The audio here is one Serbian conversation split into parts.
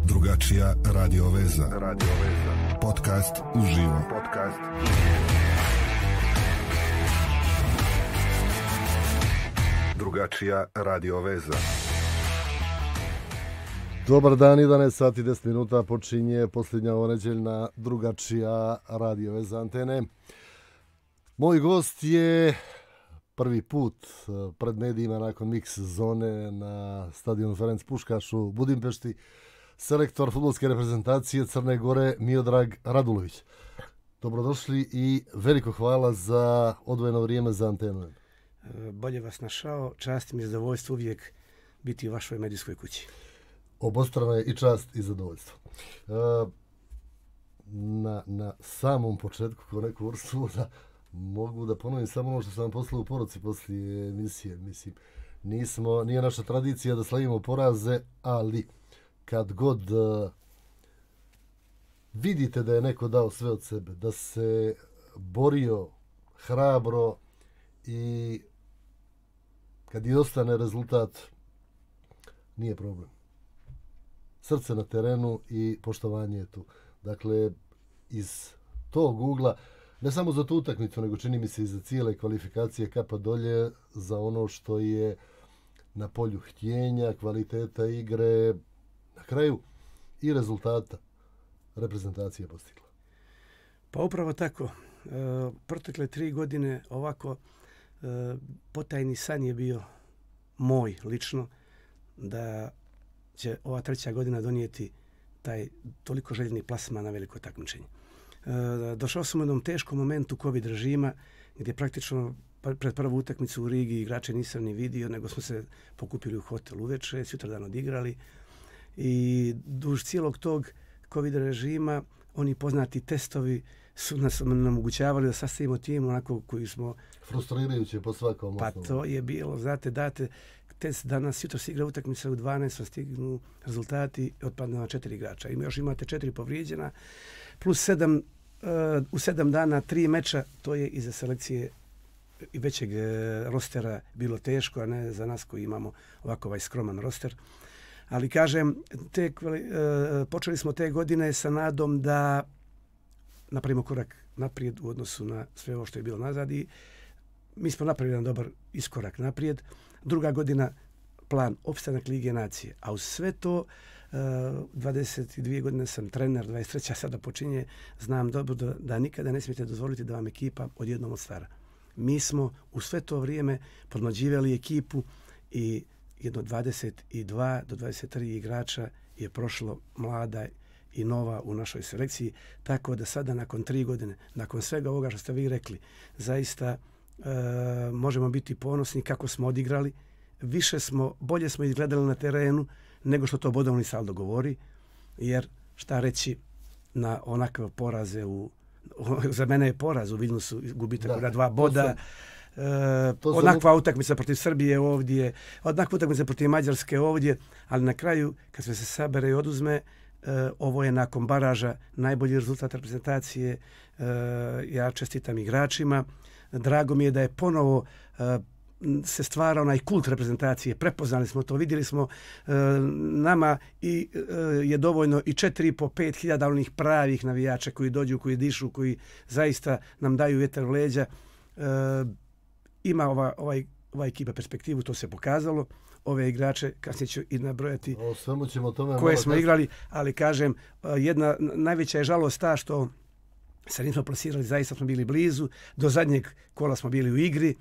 Drugačija radio veza. Podcast uživo. Drugačija radio veza. Dobar dan, 11 sati 10 minuta počinje posljednja oneđeljna Drugačija radio veza antene. Moj gost je prvi put pred medijima nakon mix zone na stadionu Ferenc Puškaš u Budimpešti, selektor fudbalske reprezentacije Crne Gore Miodrag Radulović. Dobrodošli i veliko hvala za odvojeno vrijeme za antenu. Bolje vas našao, čast mi je zadovoljstvo uvijek biti u vašoj medijskoj kući. Obostrano je i čast i zadovoljstvo. Na samom početku ko neku vrstu da mogu da ponovim samo ono što sam vam poslao u poruci poslije emisije. Mislim, nije naša tradicija da slavimo poraze, ali kad god vidite da je neko dao sve od sebe, da se borio hrabro i kad i ostane rezultat, nije problem. Srce na terenu i poštovanje je tu. Dakle, iz tog ugla, ne samo za tu utakmicu, nego čini mi se i za cijele kvalifikacije, kapa dolje za ono što je na polju htjenja, kvaliteta igre, na kraju i rezultata reprezentacija postigla. Pa upravo tako. Protekle 3 godine ovako potajni san je bio moj lično da će ova 3. godina donijeti taj toliko željeni plasman na veliko takmičenje. Došao sam u jednom teškom momentu COVID režima gdje praktično pred prvu utakmicu u Rigi igrače nisam ni vidio, nego smo se pokupili u hotel uveče, sutradan odigrali i duž cijelog tog COVID režima oni poznati testovi su nas omogućavali da sastavimo tim onako koji smo... Frustrirajuće po svakom Pa osnovu. to je bilo, znate, date test danas, jutro se igra utakmica u 12, stignu rezultati, otpadne na 4 igrača. Još imate 4 povrijeđena, plus 7, u 7 dana 3 meča, to je iza selekcije i većeg rostera bilo teško, a ne za nas koji imamo ovako ovaj skroman roster. Ali kažem, počeli smo te godine sa nadom da napravimo korak naprijed u odnosu na sve ovo što je bilo nazad i mi smo napravili jedan dobar iskorak naprijed. Druga godina plan opstanak Lige nacije, a uz sve to 22 godine sam trener, 23. sada počinje, znam dobro da nikada ne smijete dozvoliti da vam ekipa odjednom odstvara. Mi smo u sve to vrijeme podmlađivali ekipu i jedno 22 do 23 igrača je prošlo mlada i nova u našoj selekciji, tako da sada nakon 3 godine, nakon svega ovoga što ste vi rekli, zaista možemo biti ponosni kako smo odigrali, bolje smo izgledali na terenu nego što to bodovni saldo govori, jer šta reći na onakve poraze za mene je poraz u Vilnusu, gubitak na 2 boda, onakva utakmica protiv Srbije ovdje, onakva utakmica protiv Mađarske ovdje, ali na kraju kad sve se sabere i oduzme, ovo je nakon baraža najbolji rezultat reprezentacije. Ja čestitam igračima. Drago mi je da je ponovo se stvara onaj kult reprezentacije. Prepoznali smo to, vidjeli smo nama i je dovoljno i 4.500 hiljada onih pravih navijača koji dođu, koji dišu, koji zaista nam daju vjetar u leđa. Ima ova ekipa perspektivu, to se pokazalo. Ove igrače, kasnije ću i nabrojati koje smo igrali, ali kažem, jedna najveća je žalost ta što se nismo plasirali, zaista smo bili blizu, do zadnjeg kola smo bili u igri,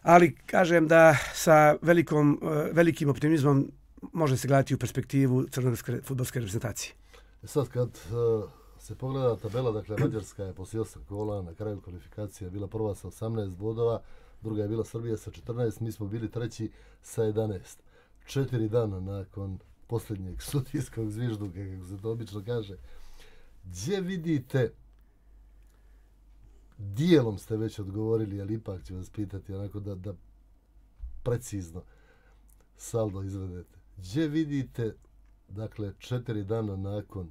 ali kažem da sa velikim optimizmom može se gledati u perspektivu crnogorske fudbalske reprezentacije. Sad kad se pogleda tabela, dakle Mađarska je poslije 8 kola, na kraju kvalifikacija bila prva sa 18 bodova, druga je bila Srbija sa 14, mi smo bili treći sa 11. 4 dana nakon posljednjeg sudijskog zvižduka, kako se to obično kaže. Gdje vidite, dijelom ste već odgovorili, ali ipak ću vas pitati onako da precizno saldo izvedete. Gdje vidite, dakle, 4 dana nakon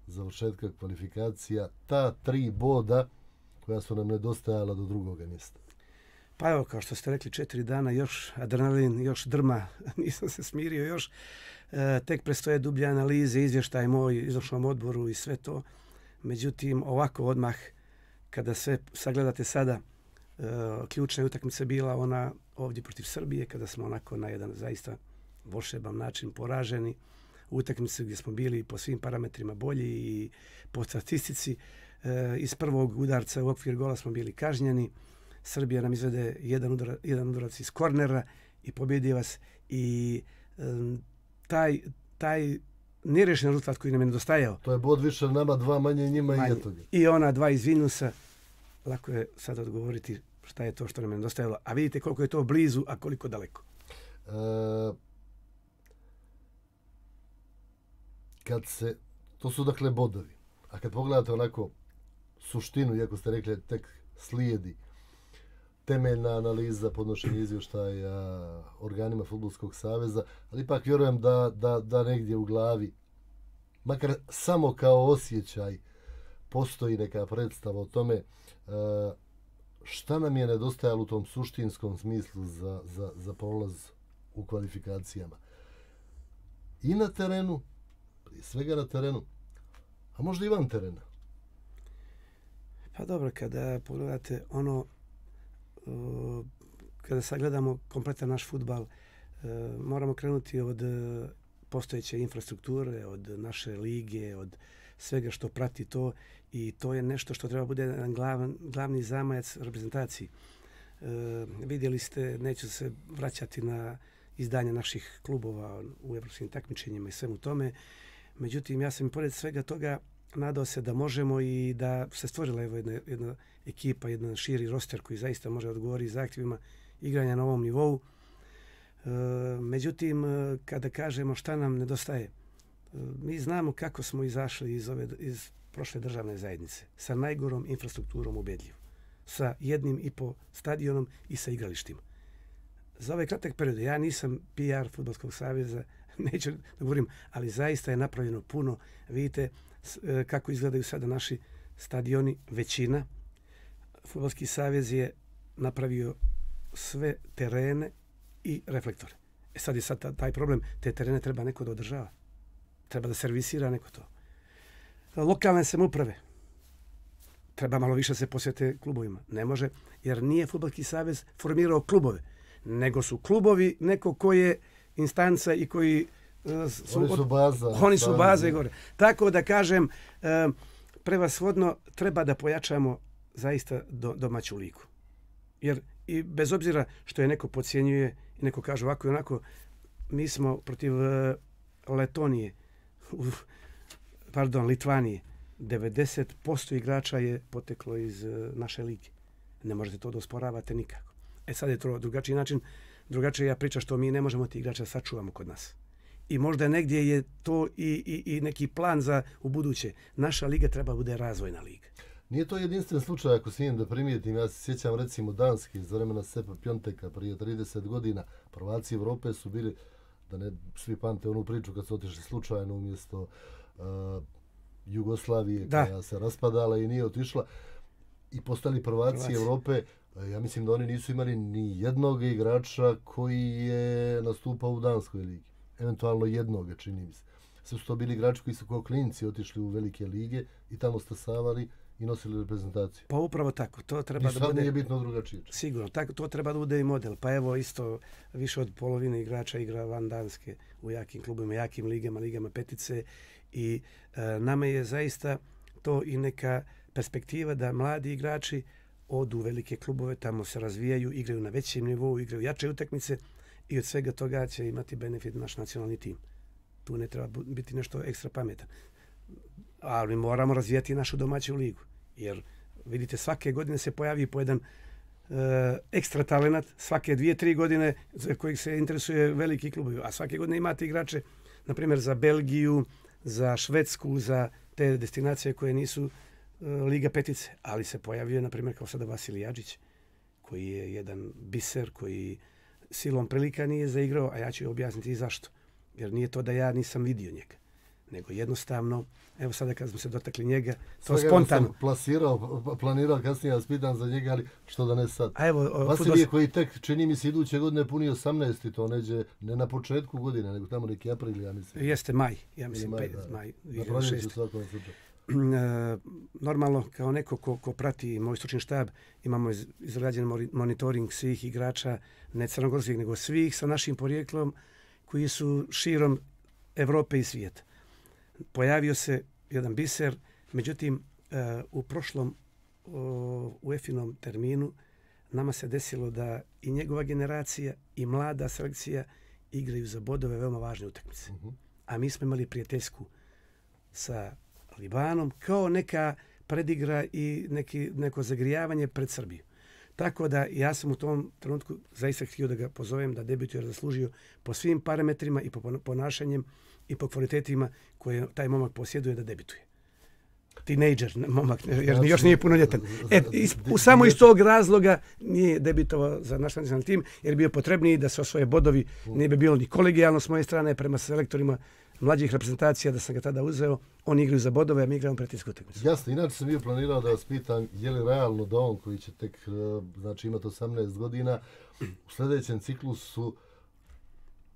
završetka kvalifikacija, ta 3 boda koja su nam nedostajala do drugoga mjesta? Pa evo, kao što ste rekli, 4 dana, još adrenalin, još drma, nisam se smirio još. Tek predstoje dublje analize, izvještaj moj, izvršnom odboru i sve to. Međutim, ovako odmah, kada sve sagledate sada, ključna utakmica bila ona ovdje protiv Srbije, kada smo onako na jedan zaista volšeban način poraženi. Utakmice gdje smo bili po svim parametrima bolji i po statistici. Iz prvog udarca u okvir gola smo bili kažnjeni. Srbija nam izvede jedan udarac iz kornera i pobjedi vas. I taj nerešen rezultat koji nam je nedostajao. To je bod više nama, 2 manje njima i eto ga. I ona 2 iz Vilnusa. Lako je sad odgovoriti šta je to što nam je nedostajalo. A vidite koliko je to blizu, a koliko daleko. To su dakle bodovi. A kad pogledate onako suštinu, iako ste rekli tek slijedi temeljna analiza, podnošenje izvještaja organima Fudbalskog saveza, ali ipak vjerujem da negdje u glavi, makar samo kao osjećaj, postoji neka predstava o tome šta nam je nedostajalo u tom suštinskom smislu za prolaz u kvalifikacijama. I na terenu, prije svega na terenu, a možda i van terena. Pa dobro, kada pogledate ono, kada sagledamo kompletan naš fudbal, moramo krenuti od postojeće infrastrukture, od naše lige, od svega što prati to, i to je nešto što treba bude glavni zamajac reprezentaciji. Vidjeli ste, neću se vraćati na izdanje naših klubova u evropskim takmičenjima i svemu tome. Međutim, ja sam i pored svega toga nadao se da možemo i da se stvorila jedna ekipa, jedan širi roster koji zaista može odgovoriti zahtjevima igranja na ovom nivou. Međutim, kada kažemo šta nam nedostaje, mi znamo kako smo izašli iz prošle državne zajednice sa najgorom infrastrukturom ubedljivo, sa 1,5 stadionom i sa igralištima. Za ovaj kratak period, ja nisam PR Fudbalskog saveza, neću da govorim, ali zaista je napravljeno puno. Vidite kako izgledaju sada naši stadioni, većina. Fudbalski savez je napravio sve terene i reflektore. Sad je taj problem, te terene treba neko da održava. Treba da servisira neko to. Lokalne samouprave. Treba malo više se posvete klubovima. Ne može, jer nije Fudbalski savez formirao klubove, nego su klubovi neko ko je instanca i koji Oni su baze gore. Tako da kažem, prevashodno treba da pojačamo zaista domaću ligu. Jer i bez obzira što je neko podcjenjuje i neko kaže ovako i onako, mi smo protiv Litvanije. 90% igrača je poteklo iz naše lige. Ne možete to da osporavate nikako. Sad je to drugačiji način, drugačija priča što mi ne možemo ti igrača sačuvamo kod nas. I možda negdje je to i neki plan za u buduće. Naša liga treba bude razvojna liga. Nije to jedinstven slučaj, ako smijem da primijetim. Ja se sjećam recimo Danske iz vremena Sepa Pjonteka prije 30 godina. Prvaci Evrope su bili, da ne svi pamte onu priču kad su otišli slučajno umjesto Jugoslavije koja se raspadala i nije otišla i postali prvaci Evrope. Ja mislim da oni nisu imali ni jednog igrača koji je nastupao u Danskoj ligi. Eventualno jednoga, čini mi se. Sve su to bili igrači koji su kao klinci otišli u velike lige i tamo stasavali i nosili reprezentaciju. Pa upravo tako. To treba da bude... nije bitno drugačije. Sigurno. To treba da bude i model. Pa evo isto više od polovine igrača igra van Danske u jakim klubima, jakim ligama petice i nama je zaista to i neka perspektiva da mladi igrači odu u velike klubove, tamo se razvijaju, igraju na većem nivou, igraju jače utakmice i od svega toga će imati benefit naš nacionalni tim. Tu ne treba biti nešto ekstra pametan. Ali moramo razvijati našu domaću ligu. Jer vidite, svake godine se pojavi po jedan ekstra talenat, svake 2-3 godine za kojih se interesuje veliki klubovi. A svake godine imate igrače, na primjer, za Belgiju, za Švedsku, za te destinacije koje nisu Liga petice, ali se pojavio, na primjer, kao sada Vasilij Adžić, koji je jedan biser, koji silom prilika nije zaigrao, a ja ću objasniti i zašto. Jer nije to da ja nisam vidio njega, nego jednostavno, evo sada kad smo se dotakli njega, to Svega spontano. Sam planirao kasnije vas pitam za njega, ali što da ne sad. A evo, Vasilije koji tek, čini mi se, iduće godine puni 18 i to neđe, ne na početku godine, nego tamo neki april, ja mislim. Jeste maj, ja mislim, maj. Na proljeću u svakom slučaju. Normalno, kao neko ko prati moj stručni štab, imamo izrađen monitoring svih igrača, ne crnogorskih, nego svih sa našim porijeklom koji su širom Evrope i svijeta. Pojavio se jedan biser, međutim, u prošlom UEFA-inom terminu nama se desilo da i njegova generacija i mlada selekcija igraju za bodove veoma važne utakmice. A mi smo imali prijateljsku sa Libanom kao neka predigra i neko zagrijavanje pred Srbiju. Tako da ja sam u tom trenutku zaista htio da ga pozovem da debituje jer zaslužio po svim parametrima i po ponašanjem i po kvalitetima koje taj momak posjeduje da debituje. Tinejdžer momak, jer još nije punoljetan. Samo iz tog razloga nije debitovao za naš nacionalni tim, jer bio potrebniji da se osvoje bodovi. Nije bi bilo ni kolegijalno s moje strane prema selektorima mlađih reprezentacija da sam ga tada uzeo. Oni igraju za bodove, a mi igramo prijateljsku utakmicu. Jasno, inače sam bio planirao da vas pitam je li realno da on koji će tek znači imati 18 godina u sljedećem ciklusu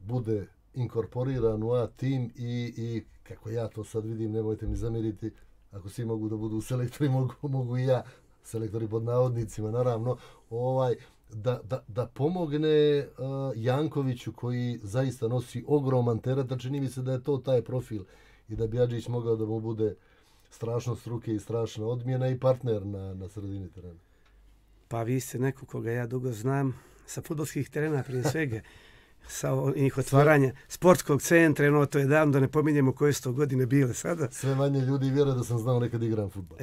bude inkorporiran u A tim i kako ja to sad vidim, nemojte mi zamjeriti, ako svi mogu da budu selektori, mogu i ja, selektori pod navodnicima, naravno, da pomogne Jankoviću koji zaista nosi ogroman teret, a čini mi se da je to taj profil i da bi Adžić mogao da mu bude strašno struke i strašna odmjena i partner na sredini terena. Pa vi ste neko koga ja dugo znam sa fudbalskih terena prije svega. Sa njih otvaranja sportskog centra, to je davno, da ne pominjemo koje su to godine bile sada. Sve manje ljudi vjeruje da sam znao nekad igram fudbal.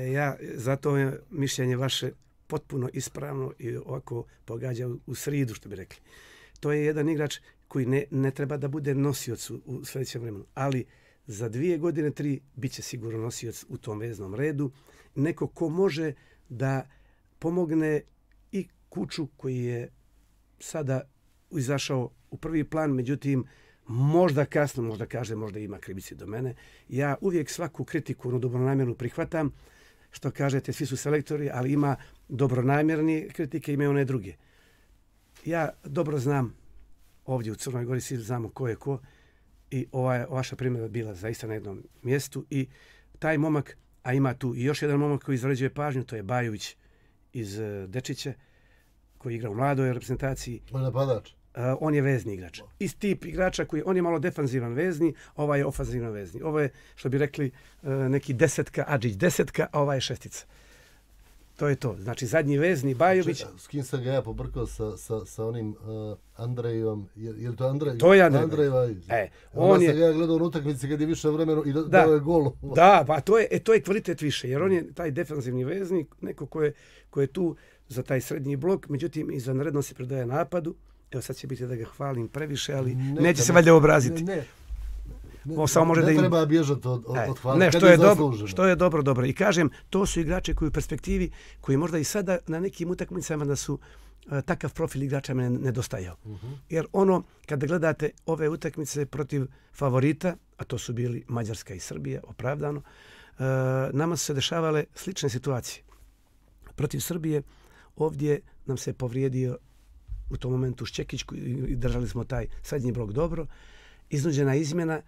Zato je mišljenje vaše potpuno ispravno i ovako pogađa u sridu, što bi rekli. To je jedan igrač koji ne treba da bude nosioc u sljedećem vremenu, ali za 2 godine, 3 bit će sigurno nosioc u tom veznom redu. Neko ko može da pomogne i Kuču koji je sada izašao u prvi plan, međutim, možda kasno, možda ima krivici do mene. Ja uvijek svaku kritiku dobronamjernu prihvatam, što kažete, svi su selektori, ali ima dobronamjerni kritike, ima one druge. Ja dobro znam, ovdje u Crnoj Gori svi znamo ko je ko i vaša primjera bila zaista na jednom mjestu i taj momak, a ima tu i još jedan momak koji izrađuje pažnju, to je Bajović iz Dečića, koji igra u mladoj reprezentaciji. On je napadač. On je vezni igrač. Iz tip igrača koji, on je malo defanzivan vezni, ovaj je ofanzivan vezni. Ovo je, što bi rekli, neki desetka, Adžić desetka, a ovaj je šestica. To je to. Znači, zadnji vezni, Bajović. S kim sam ga ja pobrkao sa onim Andrejom, je li to Andrej? To je Andrej. Andrej Vajić. On sam ga gledao u utakmici kad je više vremena i dao je gol. Da, pa to je kvalitet više, jer on je taj defanzivni vezni, neko ko je tu za taj srednji blok, međutim, izvanredno se predaje napadu. Evo sad će biti da ga hvalim previše, ali neće se valjda obraziti. Ne treba bježati od hvale. Ne, što je dobro. I kažem, to su igrači koji u perspektivi, koji možda i sada na nekim utakmicama da su takav profil igrača me nedostajao. Jer kada gledate ove utakmice protiv favorita, a to su bili Mađarska i Srbija, opravdano, nama su se dešavale slične situacije. Protiv Srbije ovdje nam se povrijedio u tom momentu Šćekić i držali smo taj srednji blok dobro. Iznuđena izmjena.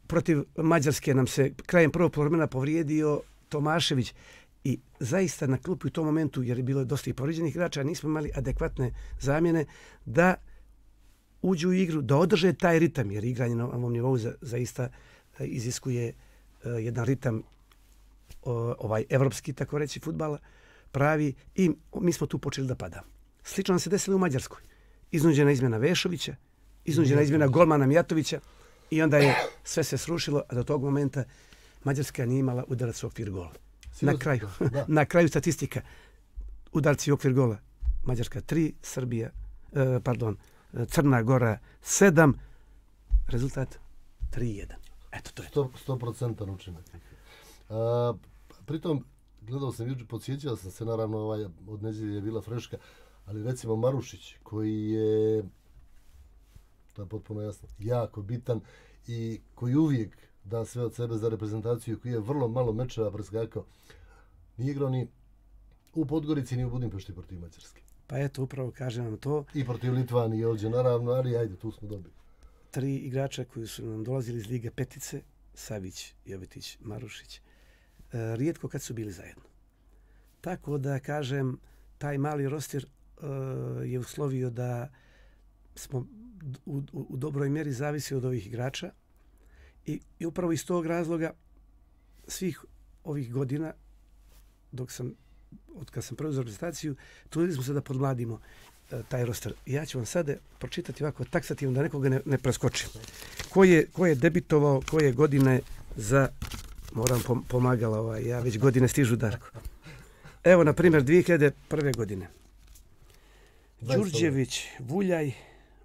Protiv Mađarske nam se krajem prvog poluvremena povrijedio Tomašević i zaista na klupi u tom momentu, jer je bilo dosta i povrijeđenih igrača, nismo imali adekvatne zamjene da uđu u igru, da održe taj ritam, jer igranje na ovom nivou zaista iziskuje jedan ritam evropski, tako reći, fudbala pravi i mi smo tu počeli da padamo. Slično nam se desilo u Mađarskoj. Iznuđena izmjena Vešovića, iznuđena izmjena golmana Mijatovića i onda je sve se srušilo, a do tog momenta Mađarska nije imala udarac u okvir gola. Na kraju statistika, udarci u okvir gola. Mađarska 3, Crna Gora 7, rezultat 3-1. Eto, to je to. 100% učinak. Pritom, gledao sam juče, podsjećao sam se, naravno, od nedjelje je bila freška, ali recimo Marušić, koji je, to je potpuno jasno, jako bitan i koji uvijek da sve od sebe za reprezentaciju, koji je vrlo malo mečeva preskakao. Nije igrao ni u Podgorici, ni u Budimpešti protiv Mađarske. Pa eto, upravo kažem vam to. I protiv Litvanije ovdje, naravno, ali ajde, tu smo dobili. 3 igrača koji su nam dolazili iz Lige petice, Savić, Jovetić, Marušić, rijetko kad su bili zajedno. Tako da, kažem, taj mali roster je uslovio da smo u dobroj mjeri zavisi od ovih igrača i upravo iz tog razloga svih ovih godina od kad sam preuzeo reprezentaciju, trudili smo se da podmladimo taj roster. Ja ću vam sada pročitati ovako taksativno da nekoga ne preskočim. Ko je debitovao koje godine za, moram pomagala, ja već godine stižu, Darko. Evo, na primjer, 2001. godine. Đurđević, Vuljaj,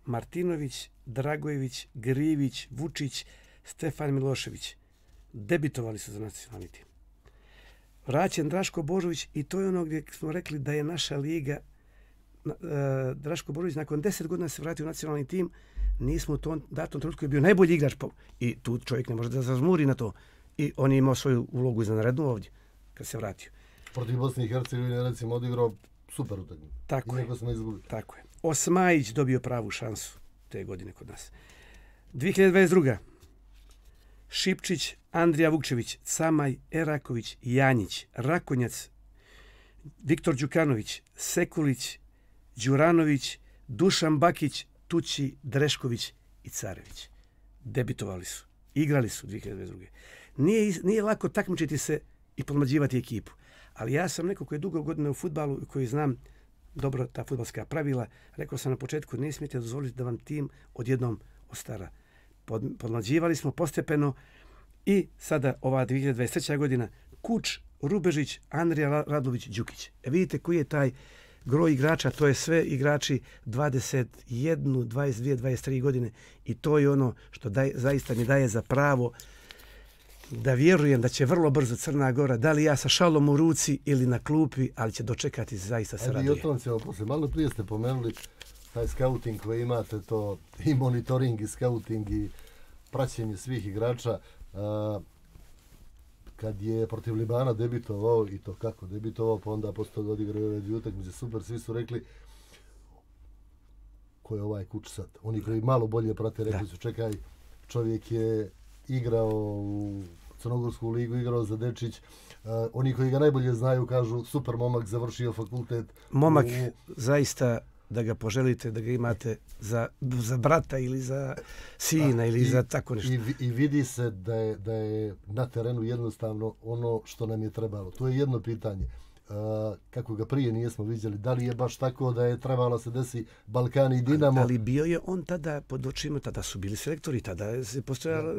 Martinović, Dragojević, Grivić, Vučić, Stefan Milošević. Debitovali su za nacionalni tim. Vraćen Draško Božović i to je ono gdje smo rekli da je naša liga. Draško Božović nakon 10 godina se vratio u nacionalni tim. Nismo u tom datom trenutku je bio najbolji igrač i tu čovjek ne može da zazmuri na to. I on je imao svoju ulogu izvanrednu ovdje kad se vratio. Protiv Bosne i Hercegovine recimo odigrao super utakmicu. Tako je. Smo izgubili. Tako je. Osmajić dobio pravu šansu te godine kod nas. 2022. Šipčić, Andrija Vukčević, Camaj, Eraković, Janjić, Rakonjac, Viktor Đukanović, Sekulić, Đuranović, Dušan Bakić, Tući, Drešković i Carević. Debitovali su. Igrali su 2022. Nije lako takmičiti se i podmlađivati ekipu. Ali ja sam neko koji je dugo godina u fudbalu i koji znam dobro ta fudbalska pravila. Rekao sam na početku, ne smijete dozvoliti da vam tim odjednom ostara. Podmlađivali smo postepeno i sada ova 2023. godina Kuč, Rubežić, Andrija Radlović, Đukić. Vidite koji je taj groj igrača, to je sve igrači 21, 22, 23 godine i to je ono što zaista mi daje za pravo da vjerujem da će vrlo brzo Crna Gora, da li ja sa šalom u ruci ili na klupi, ali će dočekati, zaista se raduje. Ajde, i o tom ćemo poslije. Malo prije ste pomenuli taj scouting koji imate, to i monitoring i scouting i praćenje svih igrača. Kad je protiv Libana debitovao, i to kako debitovao, pa onda posle toga odigrao ove dvije utakmice, super, svi su rekli ko je ovaj Kuč sad. Oni koji malo bolje prate rekli su čekaj, čovjek je igrao u Crnogorsku ligu, igrao za Dečić. Oni koji ga najbolje znaju kažu super momak, završio fakultet. Momak, zaista da ga poželite, da ga imate za brata ili za sina ili za tako nešto. I vidi se da je na terenu jednostavno ono što nam je trebalo. To je jedno pitanje. Kako ga prije nismo vidjeli, da li je baš tako da je trebalo se desi Balkan i Dinamo. Ali bio je on tada pod očima, tada su bili selektori, tada se postojao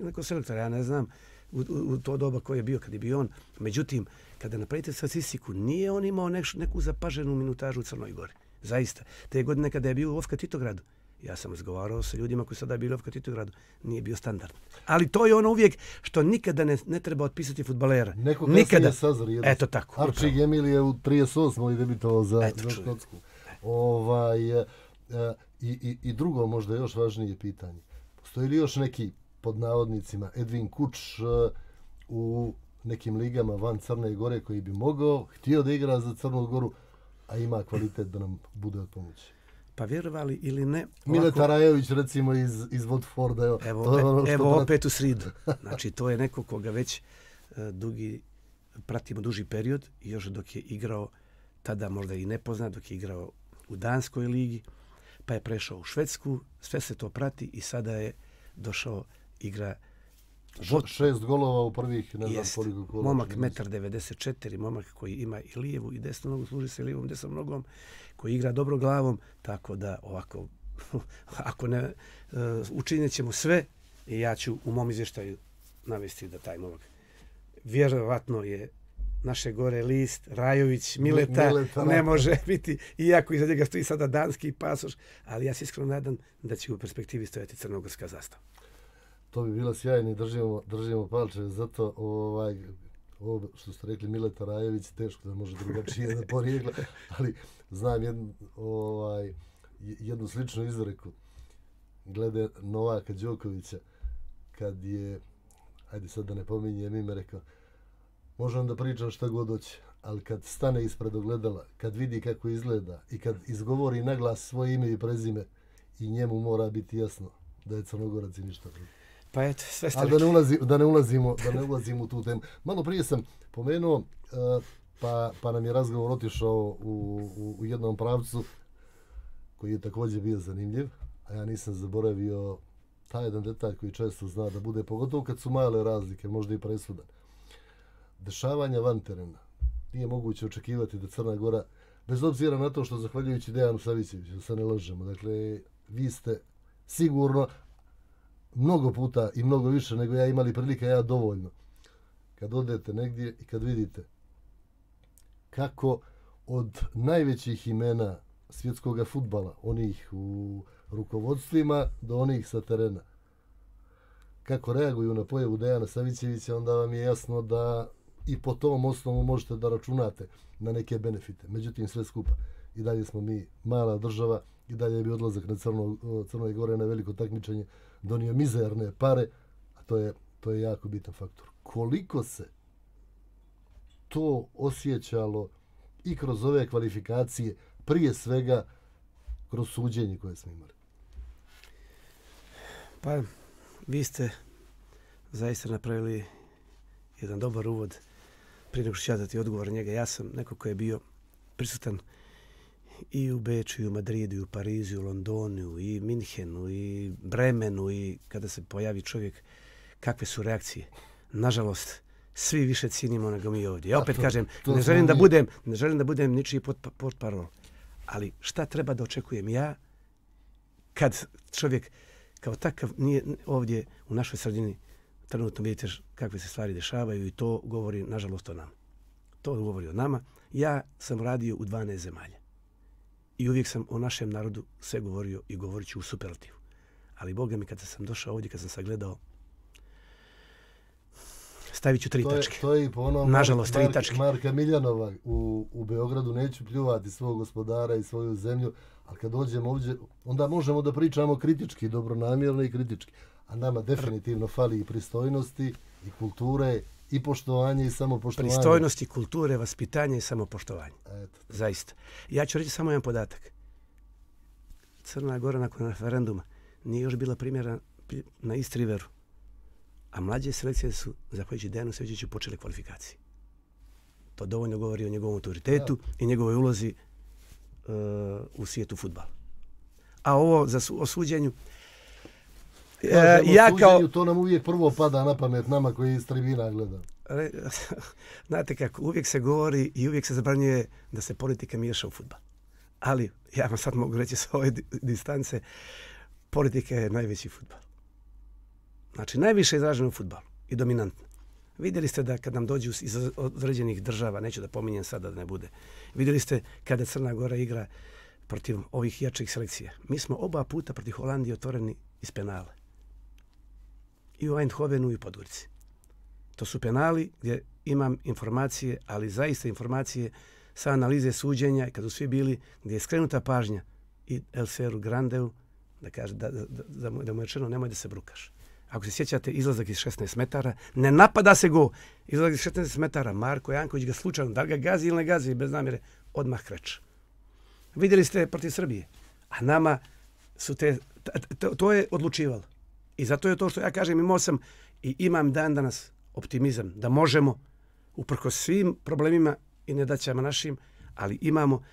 neko selektor, ja ne znam u to doba ko je bio kad je bio on. Međutim, kada napravite statistiku, nije on imao neku zapaženu minutažu u Crnoj Gori. Zaista. Te godine kada je bio u Ofka Titogradu, ja sam razgovarao sa ljudima koji sada bili u Ofka Titogradu, nije bio standard. Ali to je ono uvijek što nikada ne treba otpisati fudbalera. Neko kasnije sazori. Eto tako. Arčig Emil je u 38. debitovao za Škotsku. I drugo, možda još važnije pitanje. Postoji li još neki, pod navodnicima, Edvin Kuč u nekim ligama van Crne Gore koji bi mogao, htio da igra za Crnu Goru, a ima kvalitet da nam bude od pomoći? Pa vjerovali ili ne... Mileta Rajović recimo iz Watforda. Evo opet u sridu. Znači to je neko koga već pratimo duži period, još dok je igrao, tada možda i nepoznat, dok je igrao u Danskoj ligi, pa je prešao u Švedsku, sve se to prati i sada je došao igra 6 golova u prvih, ne znam koliko kola. Momak 1,94 m, momak koji ima i lijevu i desnu nogu, služi se lijevom desnom nogom, koji igra dobro glavom, tako da ovako, ako ne, učinit ćemo sve i ja ću u mom izvještaju navesti da taj momak vjerovatno je naše gore list, Rajović, Mileta ne može biti, iako iza njega stoji sada danski pasoš, ali ja se iskreno nadam da će u perspektivi stojati crnogorska zastava. To bi bilo sjajno i držimo palče, zato ovo što ste rekli Mileta Rajović, teško da može drugačije da porijegla, ali znam jednu sličnu izreku glede Novaka Đokovića, kad je ajde sad da ne pominjem ime, rekao, možem da pričam šta god hoće, ali kad stane ispred ogledala, kad vidi kako izgleda i kad izgovori naglas svoje ime i prezime, i njemu mora biti jasno da je Crnogorac i ništa drugo. Pa eto, sve ste Ali da ne ulazimo u tu temu. Malo prije sam pomenuo, pa nam je razgovor otišao u jednom pravcu koji je također bio zanimljiv, a ja nisam zaboravio taj jedan detalj koji često zna da bude, pogotovo kad su male razlike, možda i presudan. Dešavanja van terena. Nije moguće očekivati da Crna Gora, bez obzira na to što zahvaljujući Dejanu Savićeviću, da se ne lažemo, dakle, vi ste sigurno mnogo puta i mnogo više nego ja imali prilike, ja dovoljno, kad odete negdje i kad vidite kako od najvećih imena svjetskog fudbala, onih u rukovodstvima do onih sa terena, kako reaguju na pojavu Dejana Savićevića, onda vam je jasno da i po tom osnovu možete da računate na neke benefite. Međutim, sve skupa, i dalje smo mi mala država, i dalje bi odlazak na Crnoj Gore na veliko takmičenje donio mizerne pare, a to je jako bitan faktor. Koliko se to osjećalo i kroz ove kvalifikacije, prije svega kroz suđenje koje smo imali? Pa, vi ste zaista napravili jedan dobar uvod. Prije nego što ću ja dati odgovor njega, ja sam neko ko je bio prisutan i u Beču, i u Madridu, i u Parizu, i u Londonu, i Minhenu, i Bremenu, i kada se pojavi čovjek, kakve su reakcije. Nažalost, svi više cijenimo nego mi ovdje. Ja opet kažem, ne želim da budem ničiji portparol. Ali šta treba da očekujem ja kad čovjek kao takav nije ovdje u našoj sredini, trenutno vidite kakve se stvari dešavaju i to govori, nažalost, o nama. To govori o nama. Ja sam radio u 12 zemalja. I uvijek sam o našem narodu sve govorio i govorit ću u superlativu. Ali Boga mi, kada sam došao ovdje, kad sam sagledao, stavit ću 3 tačke. To je i po onom nažalost, 3 tačke. Marka Miljanova u Beogradu, neću pljuvati svog gospodara i svoju zemlju, ali kad dođemo ovdje, onda možemo da pričamo kritički, dobronamjerno i kritički. A nama definitivno fali i pristojnosti, i kulture, i poštovanje, i samopoštovanje. Pristojnosti, kulture, vaspitanje i samopoštovanje. Eto. Zaista. Ja ću reći samo jedan podatak. Crna Gora nakon referenduma nije još bila primjera na East Riveru. A mlađe selekcije su, zahvaljujući Dejanu Savićeviću, počele kvalifikacije. To dovoljno govori o njegovom autoritetu i njegovoj ulozi u svijetu fudbala. A ovo o suđenju, to nam uvijek prvo pada na pamet nama koji iz tribina gleda. Znate kako, uvijek se govori i uvijek se zabranjuje da se politika miješa u fudbal. Ali, ja vam sad mogu reći s ove distance, politika je najveći fudbal. Znači, najviše izraženo u fudbalu i dominantno. Vidjeli ste da kad nam dođu iz određenih država, neću da pominjem sada da ne bude, vidjeli ste kada Crna Gora igra protiv ovih jačih selekcija. Mi smo oba puta protiv Holandije otvoreni iz penala. I u Eindhovenu i u Podgorici. To su penali gdje imam informacije, ali zaista informacije sa analize suđenja, kad su svi bili, gdje je skrenuta pažnja i Elseru Grandeu, da kaže da mu je rečeno nemoj da se brukaš. Ako se sjećate, izlazak iz 16 metara, ne napada se go. Izlazak iz 16 metara, Marko Janković ga slučajno, da li ga gazi ili ne gazi, bez namjere, odmah kreće. Vidjeli ste protiv Srbije, a nama su to je odlučivalo. I zato je to što ja kažem, imao sam i imam dan danas optimizam da možemo, uprkos svim problemima i nedaćama našim, ali imamo,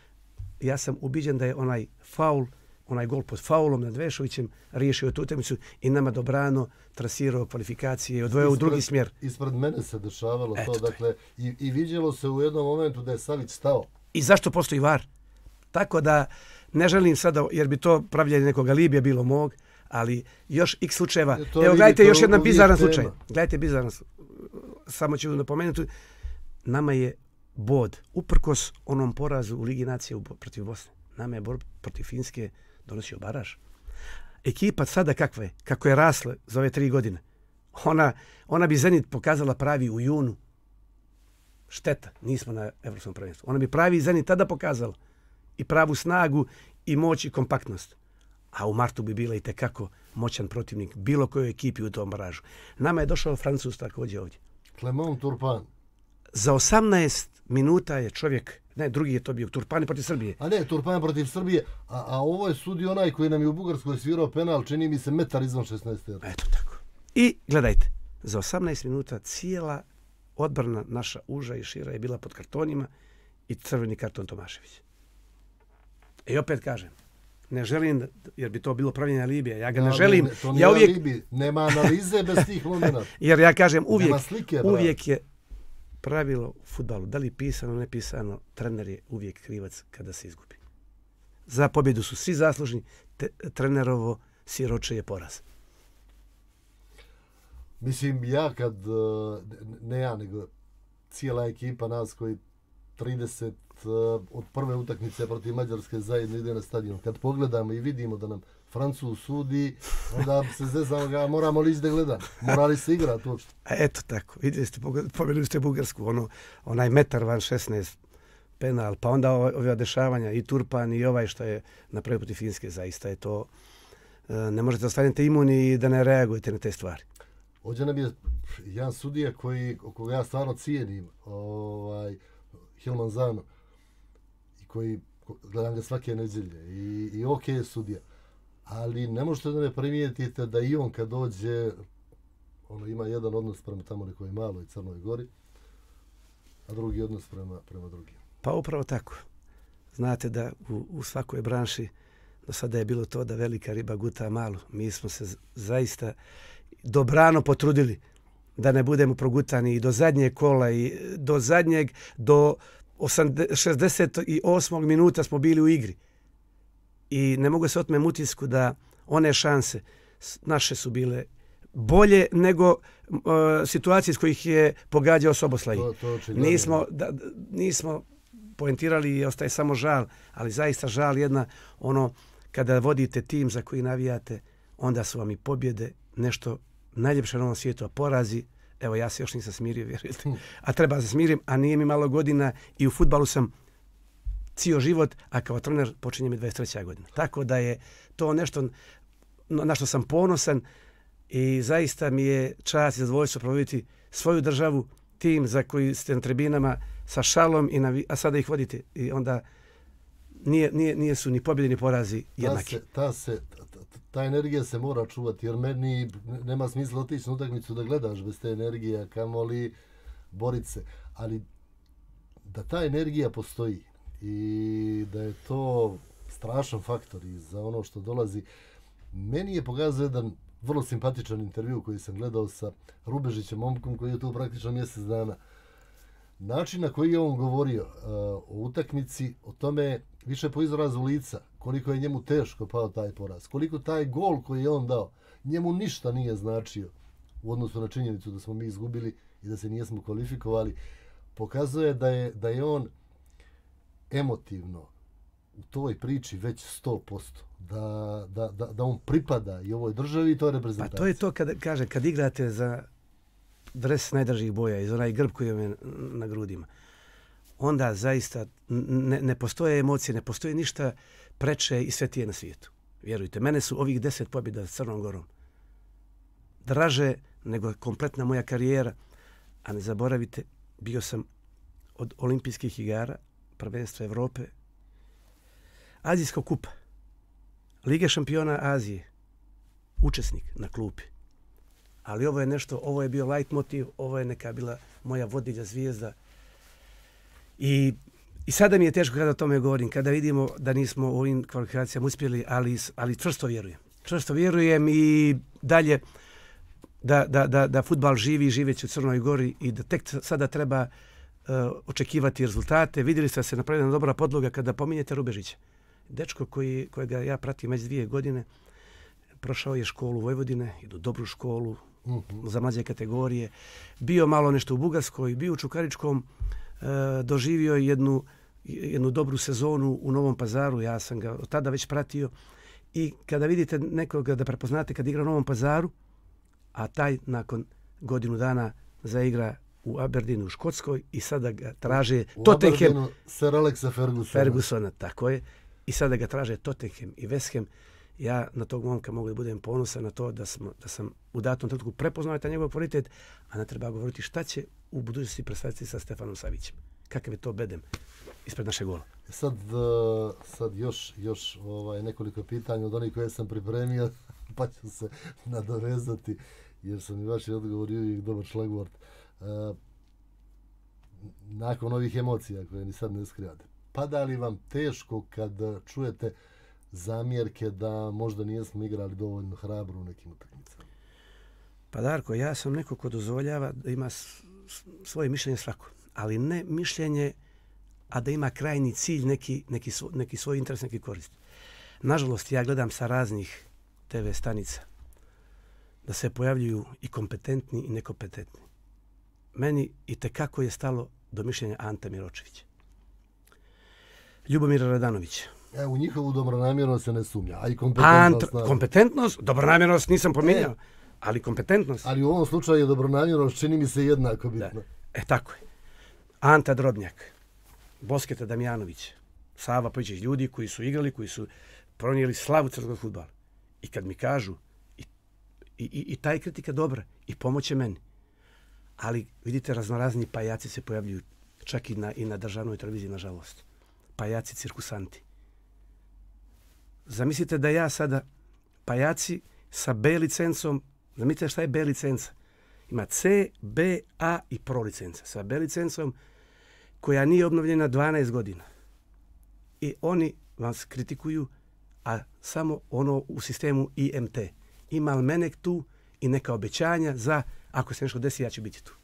ja sam ubiđen da je onaj gol pod faulom nad Vešovićem riješio tu utakmicu i nama dobrano trasirao kvalifikacije i odvojao u drugi smjer. Ispred mene se dešavalo to, dakle, i vidjelo se u jednom momentu da je Savić stao. I zašto postoji VAR? Tako da ne želim sada, jer bi to pravljanje nekog alibija bilo mog, ali još x slučajeva. Evo, gledajte još jedan bizaran slučaj. Gledajte bizaran, samo ću napomenuti, nama je bod, uprkos onom porazu u Ligi nacija protiv Bosne, nama je borba protiv Finske donosio baraž. Ekipa sada kakva je, kako je rasla za ove 3 godine, ona bi Zenit pokazala pravi u junu. Šteta, nismo na Evropskom prvenstvu. Ona bi pravi Zenit tada pokazala i pravu snagu i moć i kompaktnost. a u martu bi bila i tekako moćan protivnik bilo kojoj ekipi u tom baražu. Nama je došao Francuz također ovdje. Clement Turpin. Za 18 minuta je čovjek, ne, drugi je to bio, Turpin protiv Srbije. A ne, Turpin protiv Srbije, a ovo je sudio onaj koji nam je u Bugarskoj svirao penal, čini mi se metar izvan 16. Eto tako. I gledajte, za 18 minuta cijela odbrana naša uža i šira je bila pod kartonima i crveni karton Tomašević. I opet kažem, ne želim, jer bi to bilo pravljenje alibija, ja ga ne želim. To nije ja uvijek... alibi, nema analize bez tih momenata. Jer ja kažem, slike, uvijek je pravilo u fudbalu, da li pisano, ne pisano, trener je uvijek krivac kada se izgubi. Za pobjedu su svi zaslužni, trenerovo siroče je poraz. Mislim, ja kad, ne ja, nego cijela ekipa nas koji 30 od prve utakmice protiv Mađarske zajedno ide na stadion. Kad pogledamo i vidimo da nam Francuz sudi, onda se zezamo ga, moramo li ići da gledam? Mora li se igrati uopšte? A eto tako, vidjeli ste, pobjedili ste Bugarsku, onaj metar van 16 penal, pa onda ove dešavanja i Turpan i ovaj što je napravio protiv Finske, zaista je to, ne možete ostaviti imuni i da ne reagujete na te stvari. Ovdje nam je jedan sudija koga ja stvarno cijenim, Hilman Zano, i koji gledam ga svake nedjelje i ok je sudija. Ali ne možete da ne primijetite da i on kad dođe, ima jedan odnos prema tamo nekoj maloj Crnoj Gori, a drugi odnos prema drugim. Pa upravo tako. Znate da u svakoj branši do sada je bilo to da velika riba guta malu. Mi smo se zaista dobrano potrudili da ne budemo progutani i do zadnjeg kola i do 68. minuta smo bili u igri. I ne mogu se otmem utisku da one šanse naše su bile bolje nego situacije iz kojih je pogađao Soboslaj. Nismo poentirali i ostaje samo žal, ali zaista žal jedna, kada vodite tim za koji navijate, onda su vam i pobjede nešto najljepše na ovom svijetu, a porazi, evo ja se još nisam smirio, vjerujete, a treba da se smirim, a nije mi malo godina i u fudbalu sam cijel život, a kao trener počinje mi 23. godina. Tako da je to nešto na što sam ponosan i zaista mi je čast i zadovoljstvo provoditi svoju državu, tim za koji ste na tribinama sa šalom, a sada ih vodite i onda nije su ni pobjede ni porazi jednaki. Ta energija se mora čuvati, jer meni nema smisla otići na utakmicu da gledaš bez te energije, a kamoli boriti se. Ali da ta energija postoji i da je to strašan faktor i za ono što dolazi. Meni je pokazao jedan vrlo simpatičan intervju koji sam gledao sa Rubežićem, momkom koji je tu praktično mjesec dana. Način na koji je on govorio o utakmici, o tome više po izrazu lica, koliko je njemu teško pao taj poraz, koliko taj gol koji je on dao, njemu ništa nije značio u odnosu na činjenicu da smo mi izgubili i da se nijesmo kvalifikovali, pokazuje da je on emotivno u toj priči već 100%, da on pripada i ovoj državi i toj reprezentaciji. Pa to je to kad igrate za dres najdražih boja, iz onaj grb koji je na grudima, onda zaista ne postoje emocije, ne postoji ništa preče i svetije na svijetu. Vjerujte, mene su ovih 10 pobjeda s Crnom Gorom draže nego kompletna moja karijera, a ne zaboravite, bio sam od olimpijskih igara, prvenstva Evrope, Azijskog kupa, Lige šampiona Azije, učesnik na klupi. Ali ovo je nešto, ovo je bio light motiv, ovo je neka bila moja vodilja zvijezda. I sada mi je teško kada o tome govorim, kada vidimo da nismo u ovim kvalifikacijama uspjeli, ali čvrsto vjerujem. Čvrsto vjerujem i dalje da fudbal živi i živeći u Crnoj Gori i da tek sada treba očekivati rezultate. Vidjeli ste da se napravila dobra podloga kada pominjete Rubežića. Dečko kojega ja pratim već 2 godine, prošao je školu Vojvodine, idu dobru školu za mlađe kategorije, bio malo nešto u Bugarskoj, bio u Čukaričkom, doživio jednu dobru sezonu u Novom Pazaru, ja sam ga od tada već pratio i kada vidite nekoga da prepoznate kad igra u Novom Pazaru, a taj nakon godinu dana zaigra u Aberdeenu u Škotskoj i sada ga traže Tottenham. U Aberdeenu Sir Alexa Fergusona. Tako je. I sada ga traže Tottenham i West Ham. Ja na tog momka mogu da budem ponosan na to da sam u datom trenutku prepoznao taj njegov kvalitet, a ne treba govoriti šta će u budućnosti predstaviti sa Stefanom Savićem. Kakav je to bedem ispred našeg gola. Sad još nekoliko pitanja od onih koje sam pripremio, pa ću se nadovezati, jer sam i vaši odgovori uvijek dobar šlagvort. Nakon ovih emocija koje ni sad ne skrivate, pada li vam teško kad čujete zamjerke da možda nijesmo igrali dovoljno hrabro u nekim utakmicama? Pa Darko, ja sam neko ko dozvoljava da ima svoje mišljenje svako, ali ne mišljenje, a da ima krajnji cilj, neki svoj interes, neki korist. Nažalost, ja gledam sa raznih TV stanica da se pojavljuju i kompetentni i nekompetentni. Meni itekako je stalo do mišljenja Ante Miročevića, Ljubomira Radanovića. U njihovu dobronamjernost se ne sumnja, a i kompetentnost. Kompetentnost, dobronamjernost nisam pominjao, ali kompetentnost. Ali u ovom slučaju je dobronamjernost, čini mi se, jednako bitno. Tako je. Anta Drobnjak, Bosketa Damjanović, Sava Pojičić, ljudi koji su igrali, koji su pronijeli slavu crnogorskog fudbala. I kad mi kažu, i ta je kritika dobra, i pomoće meni. Ali vidite, raznorazni pajaci se pojavljuju čak i na državnoj televiziji, nažalost. Pajaci, cirkusanti. Zamislite da ja sada, pajaci sa B licencom, zamislite šta je B licenca? Ima C, B, A i Pro licenca. Sa B licencom koja nije obnovljena 12 godina. I oni vas kritikuju, a samo ono u sistemu IMT. Ima li mene tu i neka obećanja za ako se nešto desi, ja ću biti tu.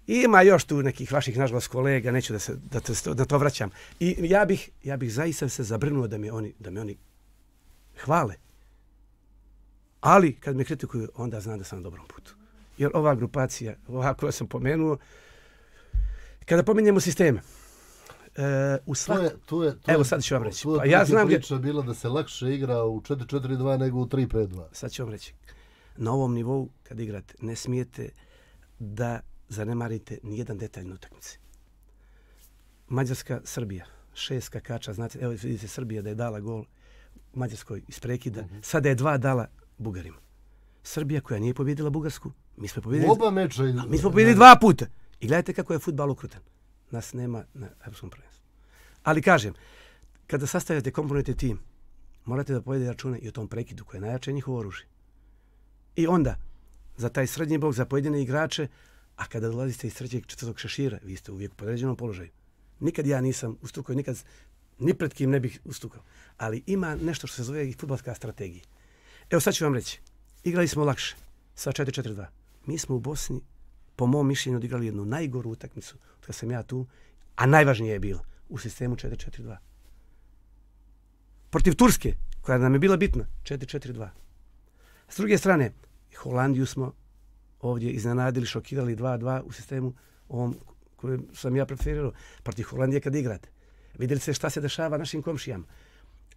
Ima još tu nekih vaših, nažalost, kolega, neću da to vraćam. I ja bih zaista se zabrinuo da me oni hvale. Ali, kad me kritikuju, onda znam da sam na dobrom putu. Jer ova grupacija, ova koju sam pomenuo, kada pominjemo sisteme, evo sad ću vam reći. Pa ja znam priča bila da se lakše igra u 4-4-2 nego u 3-5-2. Sad ću vam reći. Na ovom nivou, kad igrate, ne smijete da zanemarite nijedan detalj na utakmici. Mađarska, Srbija, 6 skakača, znate, evo vidite Srbija da je dala gol Mađarskoj iz prekida, sada je 2 dala Bugarima. Srbija koja nije pobjedila Bugarsku, mi smo pobjedili, oba meča, mi smo pobjedili 2 puta. I gledajte kako je fudbal okrutan. Nas nema na evropskom prvenstvu. Ali kažem, kada sastavljate komponentni tim, morate da povedete račune i o tom prekidu koje je najjače njihovo oružje. I onda, za taj srednji blok, za pojedine igrače, a kada dolazite iz trećeg, četvrtog šešira, vi ste uvijek u podređenom položaju. Nikad ja nisam ustukao, nikad ni pred kim ne bih ustukao. Ali ima nešto što se zove i fudbalska strategija. Evo sad ću vam reći. Igrali smo lakše sa 4-4-2. Mi smo u Bosni, po mom mišljenju, odigrali jednu najgoru utakmicu od kada sam ja tu, a najvažnije je bilo u sistemu 4-4-2. Protiv Turske, koja nam je bila bitna, 4-4-2. S druge strane, Holandiju smo ovdje iznenadili, šokirali 2-2 u sistemu ovom kojem sam ja preferirao. Protiv Holandije kad igrate. Vidjeli ste šta se dešava našim komšijama.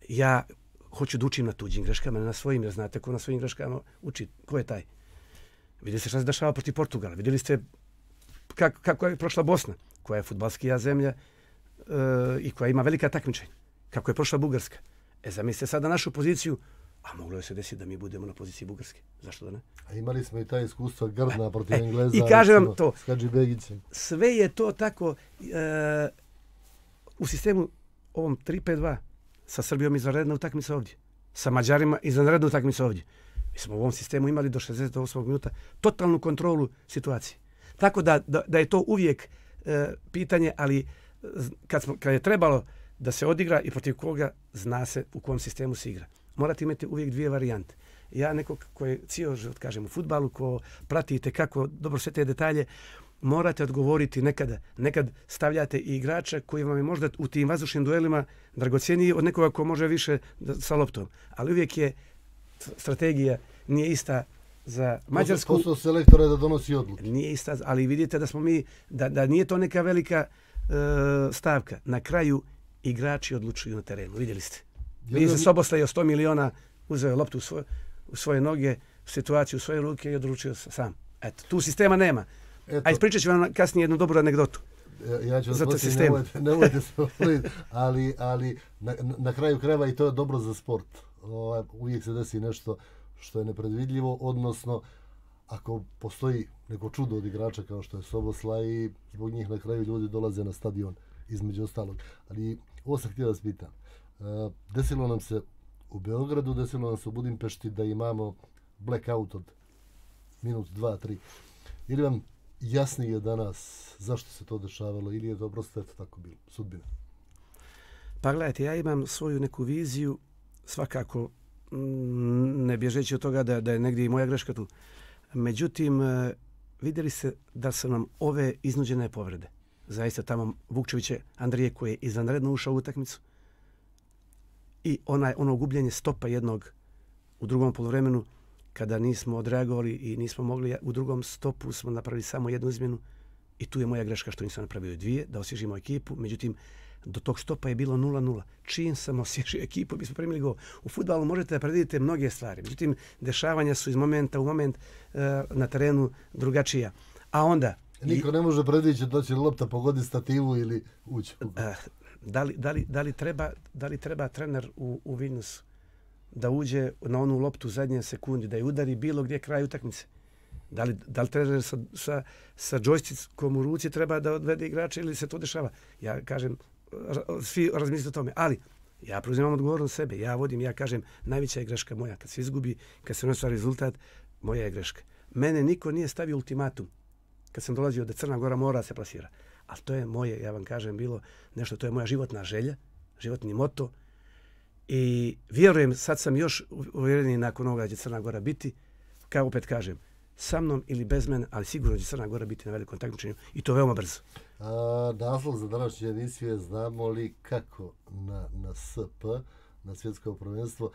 Ja hoću da učim na tuđim greškama, ne na svojim, jer znate ko na svojim greškama uči. Ko je taj? Vidjeli ste šta se dešava protiv Portugala. Vidjeli ste kako je prošla Bosna, koja je fudbalskija zemlja i koja ima velika takmičenja. Kako je prošla Bugarska. Zamislite sada našu poziciju, a moglo je se desiti da mi budemo na poziciji Bugarske. Zašto da ne? A imali smo i taj iskustvo grdna protiv Engleza. I kažem vam to, s Hadžibegićem. sve je to tako u sistemu ovom 3-5-2 sa Srbijom izvanredna utakmica ovdje. Sa Mađarima izvanredna utakmica ovdje. Mi smo u ovom sistemu imali do 68. minuta totalnu kontrolu situacije. Tako da je to uvijek pitanje, ali kad je trebalo da se odigra i protiv koga, zna se u kom sistemu se igra. Morate imati uvijek dvije varijante. Ja neko ko je cijelo život, kažem, u fudbalu, ko pratite kako dobro sve te detalje, morate odgovoriti nekada. Nekad stavljate i igrača koji vam je možda u tim vazdušnim duelima dragocjeniji od nekoga ko može više sa loptom. Ali uvijek je strategija nije ista za Mađarsku. Posao selektora da donosi odluke. Nije ista, ali vidite da smo mi, da nije to neka velika stavka. Na kraju igrači odlučuju na terenu. Vidjeli ste. Vidi se Soboslaj 100 miliona uzeo loptu u svoje noge, situaciju u svoje ruke i odlučio sam. Eto, tu sistema nema. A ispričat ću vam kasnije jednu dobru anegdotu. Ja ću nemojte se voliti, ali na kraju krajeva i to je dobro za sport. uvijek se desi nešto što je nepredvidljivo, odnosno ako postoji neko čudo od igrača kao što je Soboslaj i zbog njih na kraju ljudi dolaze na stadion između ostalog. Ali ovo sam htio da vas pitam. Desilo nam se u Beogradu, desilo nam se u Budimpešti da imamo blackout od minut, 2, 3. Ili vam jasnije danas zašto se to dešavalo ili je to prosto eto tako bilo, sudbina? Pa gledajte, ja imam svoju neku viziju, svakako ne bježeći od toga da je negdje i moja greška tu. Međutim, vidjeli se da su nam ove iznuđene povrede. Zaista tamo Vukčeviće Andrije koji je izvanredno ušao u utakmicu i ono gubljenje stopa jednog u drugom poluvremenu kada nismo odreagovali i nismo mogli, u drugom stopu smo napravili samo jednu izmjenu i tu je moja greška što nisam napravio 2, da osvježimo ekipu. Međutim, do tog stopa je bilo 0-0. Čim sam osvježio ekipu, bismo primili gol. U fudbalu možete da predvidite mnoge stvari. Međutim, dešavanja su iz momenta u moment na terenu drugačija. A onda... Niko ne može predvidjeti da će lopta pogoditi stativu ili ući. Da li treba trener u Vilnusu da uđe na onu loptu u zadnje sekundi, da je udari bilo gdje kraj utakmice? Da li trener sa džojstickom u ruci treba da odvede igrača ili se to dešava? Ja kažem, svi razmislite o tome, ali ja preuzimam odgovornost sebe, ja vodim, ja kažem, najveća je greška moja. Kad se izgubi, kad se ne ostvari rezultat, moja je greška. Mene niko nije stavio ultimatum kad sam dolazio da Crna Gora mora se plasira. Ali to je moje, ja vam kažem, bilo nešto, to je moja životna želja, životni moto. I vjerujem, sad sam još uvjereniji nakon ovoga će Crna Gora biti, kao opet kažem, sa mnom ili bez mene, ali sigurno će Crna Gora biti na velikom takmičenju i to veoma brzo. Naslov za današnje emisije, znamo li kako na SP, na svjetsko prvenstvo,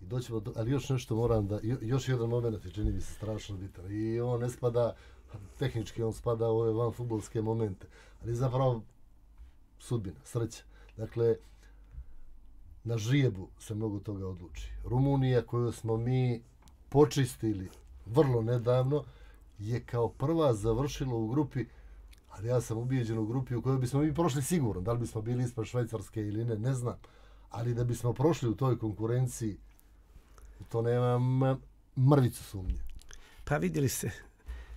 i doćemo do, ali još nešto moram da, još jedan moment je čini mi se strašno bitan i on ne spada, tehnički on spada u ove vanfudbalske momente, ali zapravo sudbina, sreća. Dakle, na žrijebu se mnogo toga odluči. Rumunija koju smo mi počistili vrlo nedavno je kao prva završila u grupi, ali ja sam ubijeđen u grupi u kojoj bismo mi prošli sigurno. Da li bismo bili ispred Švajcarske ili ne, ne znam. Ali da bismo prošli u toj konkurenciji, to nemam mrvicu sumnje. Pa vidjeli ste,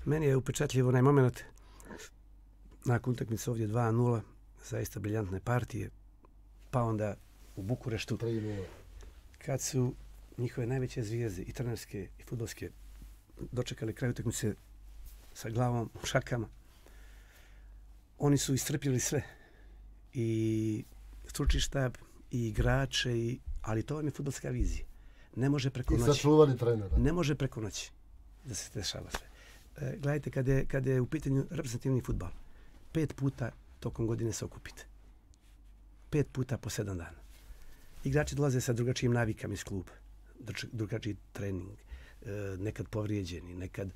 meni je upečatljivo onaj moment nakon utakmice ovdje 2-0, zaista briljantne partije, pa onda u Bukureštu 3-0. Kad su njihove najveće zvijezde i trenerske i fudbalske dočekali kraj utakmice sa glavom u šakama, oni su iscrpili sve i stručni štab i igrače, ali to vam je fudbalska vizija. Ne može preko noći. I sačuvali trenera. Ne može preko noći da se dešava sve. Gledajte, kad je u pitanju reprezentativni fudbal, 5 puta tokom godine se okupite. 5 puta po 7 dana. Igrači dolaze sa drugačijim navikama iz kluba. Drugačiji trening, nekad povrijeđeni, nekad,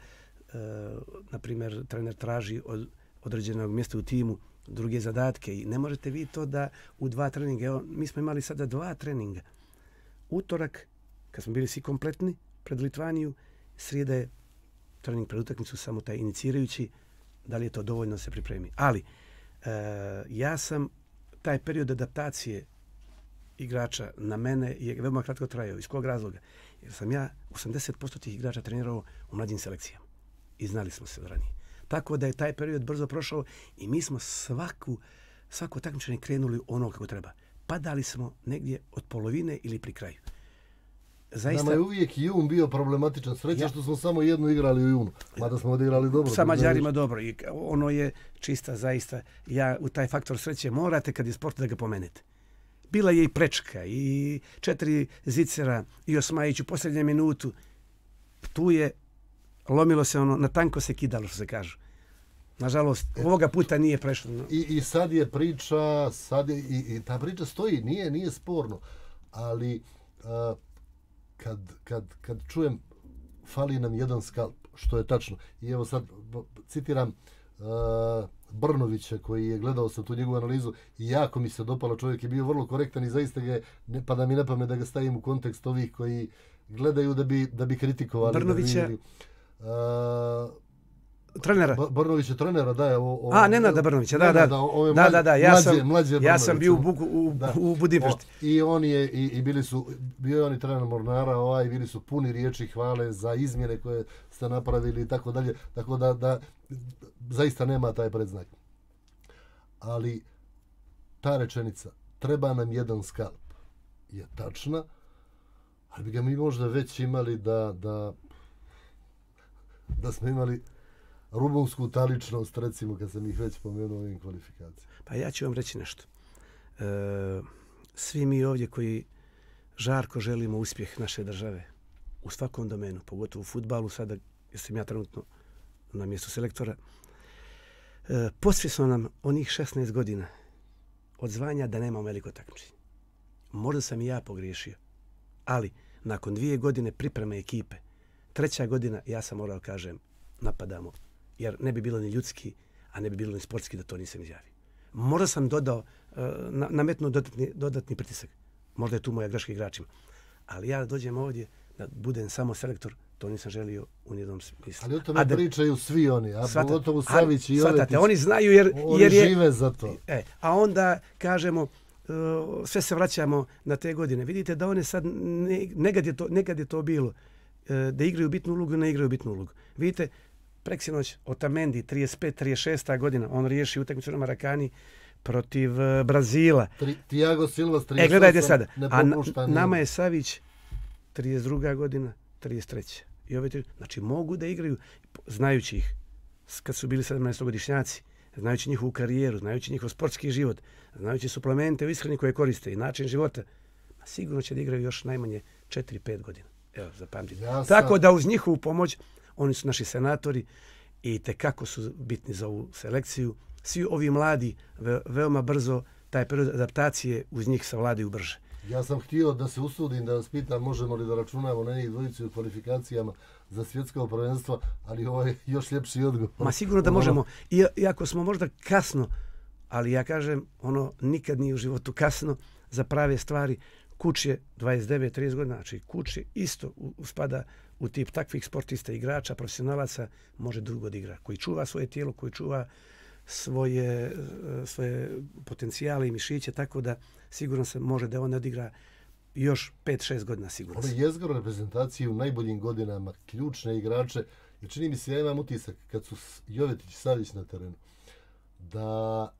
na primjer, trener traži od određenog mjesta u timu druge zadatke i ne možete vi to da u 2 treninga. Evo, mi smo imali sada 2 treninga. Utorak, kad smo bili svi kompletni pred Litvaniju, srijeda je trening pred utakmicu, samo taj inicirajući, da li je to dovoljno da se pripremi. Ali, ja sam taj period adaptacije igrača na mene je veoma kratko trajao. Iz kog razloga? Jer sam ja 80% tih igrača trenirao u mlađim selekcijama. I znali smo se od ranije. Tako da je taj period brzo prošao i mi smo svako takmičenje krenuli ono kako treba. Padali smo negdje od polovine ili pri kraju. Zaista, nama je uvijek jun bio problematičan. Sreća što smo samo jednu igrali u junu. Mada smo odigrali dobro. Sa Mađarima dobro. I ono je čista zaista. Ja u taj faktor sreće morate kad je sport da ga pomenete. Bila je i prečka i 4 zicera i Osmajić u posljednjem minutu. Tu je lomilo se ono, na tanko se kidalo, što se kažu. Nažalost, ovoga puta nije prešlo. I sad je priča, i ta priča stoji, nije sporno. Ali kad čujem fali nam jedan skalp, što je tačno. I evo sad citiram Brnovića koji je gledao sam tu njegovu analizu i jako mi se dopalo, čovjek je bio vrlo korektan i zaista ga ne pada mi na pamet da ga stavim u kontekst ovih koji gledaju da bi kritikovali. Brnovića, trenera. Brnović je trenera, da je Nenada Brnovića, da. Ja sam bio u Budimpešti. I on je, bio je on i trener Mornara, bili su puni riječi hvale za izmjene koje ste napravili i tako dalje. Tako da zaista nema taj predznak. Ali ta rečenica, treba nam jedan skalp, je tačna, ali bi ga mi možda već imali da smo imali rubunsku taličnost, recimo, kad sam ih već pomenuo ovim kvalifikacijama. Pa ja ću vam reći nešto. Svi mi ovdje koji žarko želimo uspjeh naše države u svakom domenu, pogotovo u fudbalu, sada jer sam ja trenutno na mjestu selektora, posvjesno nam onih 16 godina od zvanja da nemamo veliko takmičenje. Možda sam i ja pogriješio, ali nakon 2 godine pripreme ekipe, 3. godina ja sam morao kažem napadamo, jer ne bi bilo ni ljudski, a ne bi bilo ni sportski da to nisam izjavio. Možda sam dodao, nametnuo dodatni pritisak. Možda je tu moja greška igračima. Ali ja dođem ovdje da budem samo selektor, to nisam želio u nijednom smislu. Ali o tome pričaju svi oni, a pogotovo Savić i Jovetić. Oni znaju jer žive za to. A onda kažemo, sve se vraćamo na te godine. Vidite da one sad, nekad je to bilo, da igraju bitnu ulogu, ne igraju bitnu ulogu. Vidite, preksinoć Otamendi, 35-36 godina, on riješi utakmicu na Marakani protiv Brazila. Thiago Silva, 38, gledajte sada. A nama je Savić 32. godina, 33. I znači mogu da igraju, znajući ih, kad su bili 17-godišnjaci, znajući njihovu karijeru, znajući njihov sportski život, znajući suplemente u ishrani koje koriste i način života, sigurno će da igraju još najmanje 4-5 godina. Evo, zapamtite. Tako da uz njihovu pomoć, oni su naši senatori i tekako su bitni za ovu selekciju. Svi ovi mladi veoma brzo taj period adaptacije uz njih savladaju brže. Ja sam htio da se usudim da vas pitam možemo li da računamo na njih dvojicu u kvalifikacijama za svjetsko prvenstvo, ali ovo je još ljepši odgovor. Ma sigurno da možemo. Iako smo možda kasno, ali ja kažem, nikad nije u životu kasno za prave stvari. Kuč je 29-30 godina, znači Kuč je isto spada u tip takvih sportista, igrača, profesionalaca, može dugo da igra. Koji čuva svoje tijelo, koji čuva svoje potencijale i mišiće, tako da sigurno se može da on odigra još 5-6 godina sigurno. Ove jezgro reprezentacije u najboljim godinama, ključne igrače, jer čini mi se, ja imam utisak kad su Jovetić i Savić na terenu, da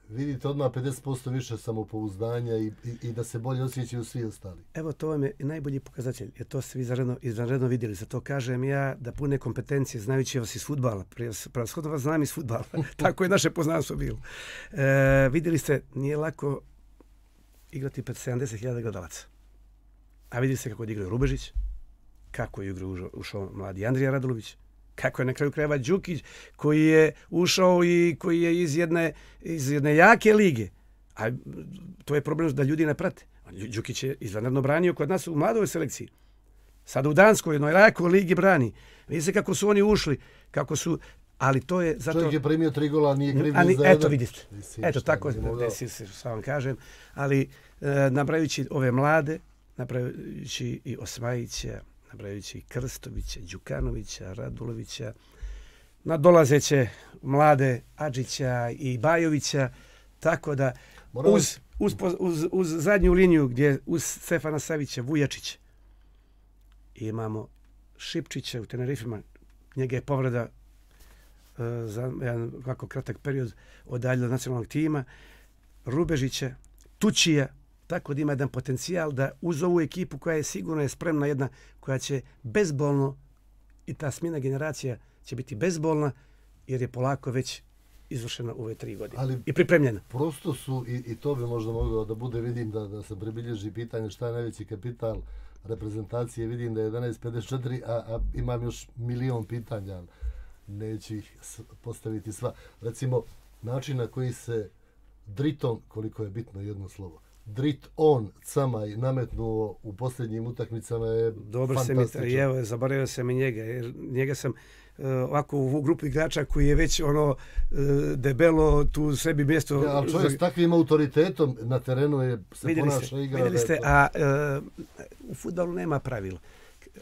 vidite odmah 50% više samopouzdanja i da se bolje osjećaju svi ostali. Evo, to vam je najbolji pokazatelj, jer to ste vi izvanredno vidjeli. Za to kažem ja da pune kompetencije, znajući vas iz fudbala. Prevashodno vas znam iz fudbala. Tako je naše poznanstvo bilo. Vidjeli ste, nije lako igrati pred 70.000 gledalaca. A vidjeli ste kako je igrao Rubežić, kako je igrao ušao mladi Andrija Radulović, kako je na kraju krajeva Đukić koji je ušao i koji je iz jedne jake lige. A to je problem da ljudi ne prate. Đukić je izvanredno branio kod nas u mladoj selekciji. Sada u Danskoj, jednoj jakoj ligi brani. Vidite kako su oni ušli, kako su... Ali to je zato... Čovjek je primio 3 gola, nije kriv ni za jedan. Eto vidite. Eto tako desi se, što vam kažem. Ali nabrajući ove mlade, nabrajući i Osmajića, nabrajući i Krstovića, Đukanovića, Radulovića, nadolazeće mlade Adžića i Bajovića, tako da uz zadnju liniju gdje uz Stefana Savića, Vujačića, imamo Šipčića u Tenerifima, njega je povreda za jedan ovako kratak period odaljila od nacionalnog tima, Rubežića, Tučija, tako da ima jedan potencijal da uz ovu ekipu koja je sigurno spremna, jedna koja će bezbolno, i ta smjena generacija će biti bezbolna, jer je polako već izvršena u ove 3 godine i pripremljena. Prosto su, i to bi možda moglo da bude, vidim da se pribilježi pitanje šta je najveći kapital reprezentacije, vidim da je 11.54, a imam još milion pitanja, neću ih postaviti sva. Recimo, način na koji se dritom, koliko je bitno jedno slovo, Drit on Camaj nametnuo u posljednjim utakmicama je fantastično. Evo, zaboravio sam i njega, jer njega sam ovako u grupu igrača koji je već debelo tu sebi mjesto... Ja, ali čovjek s takvim autoritetom na terenu se ponaša igra. Vidjeli ste, a u fudbalu nema pravila.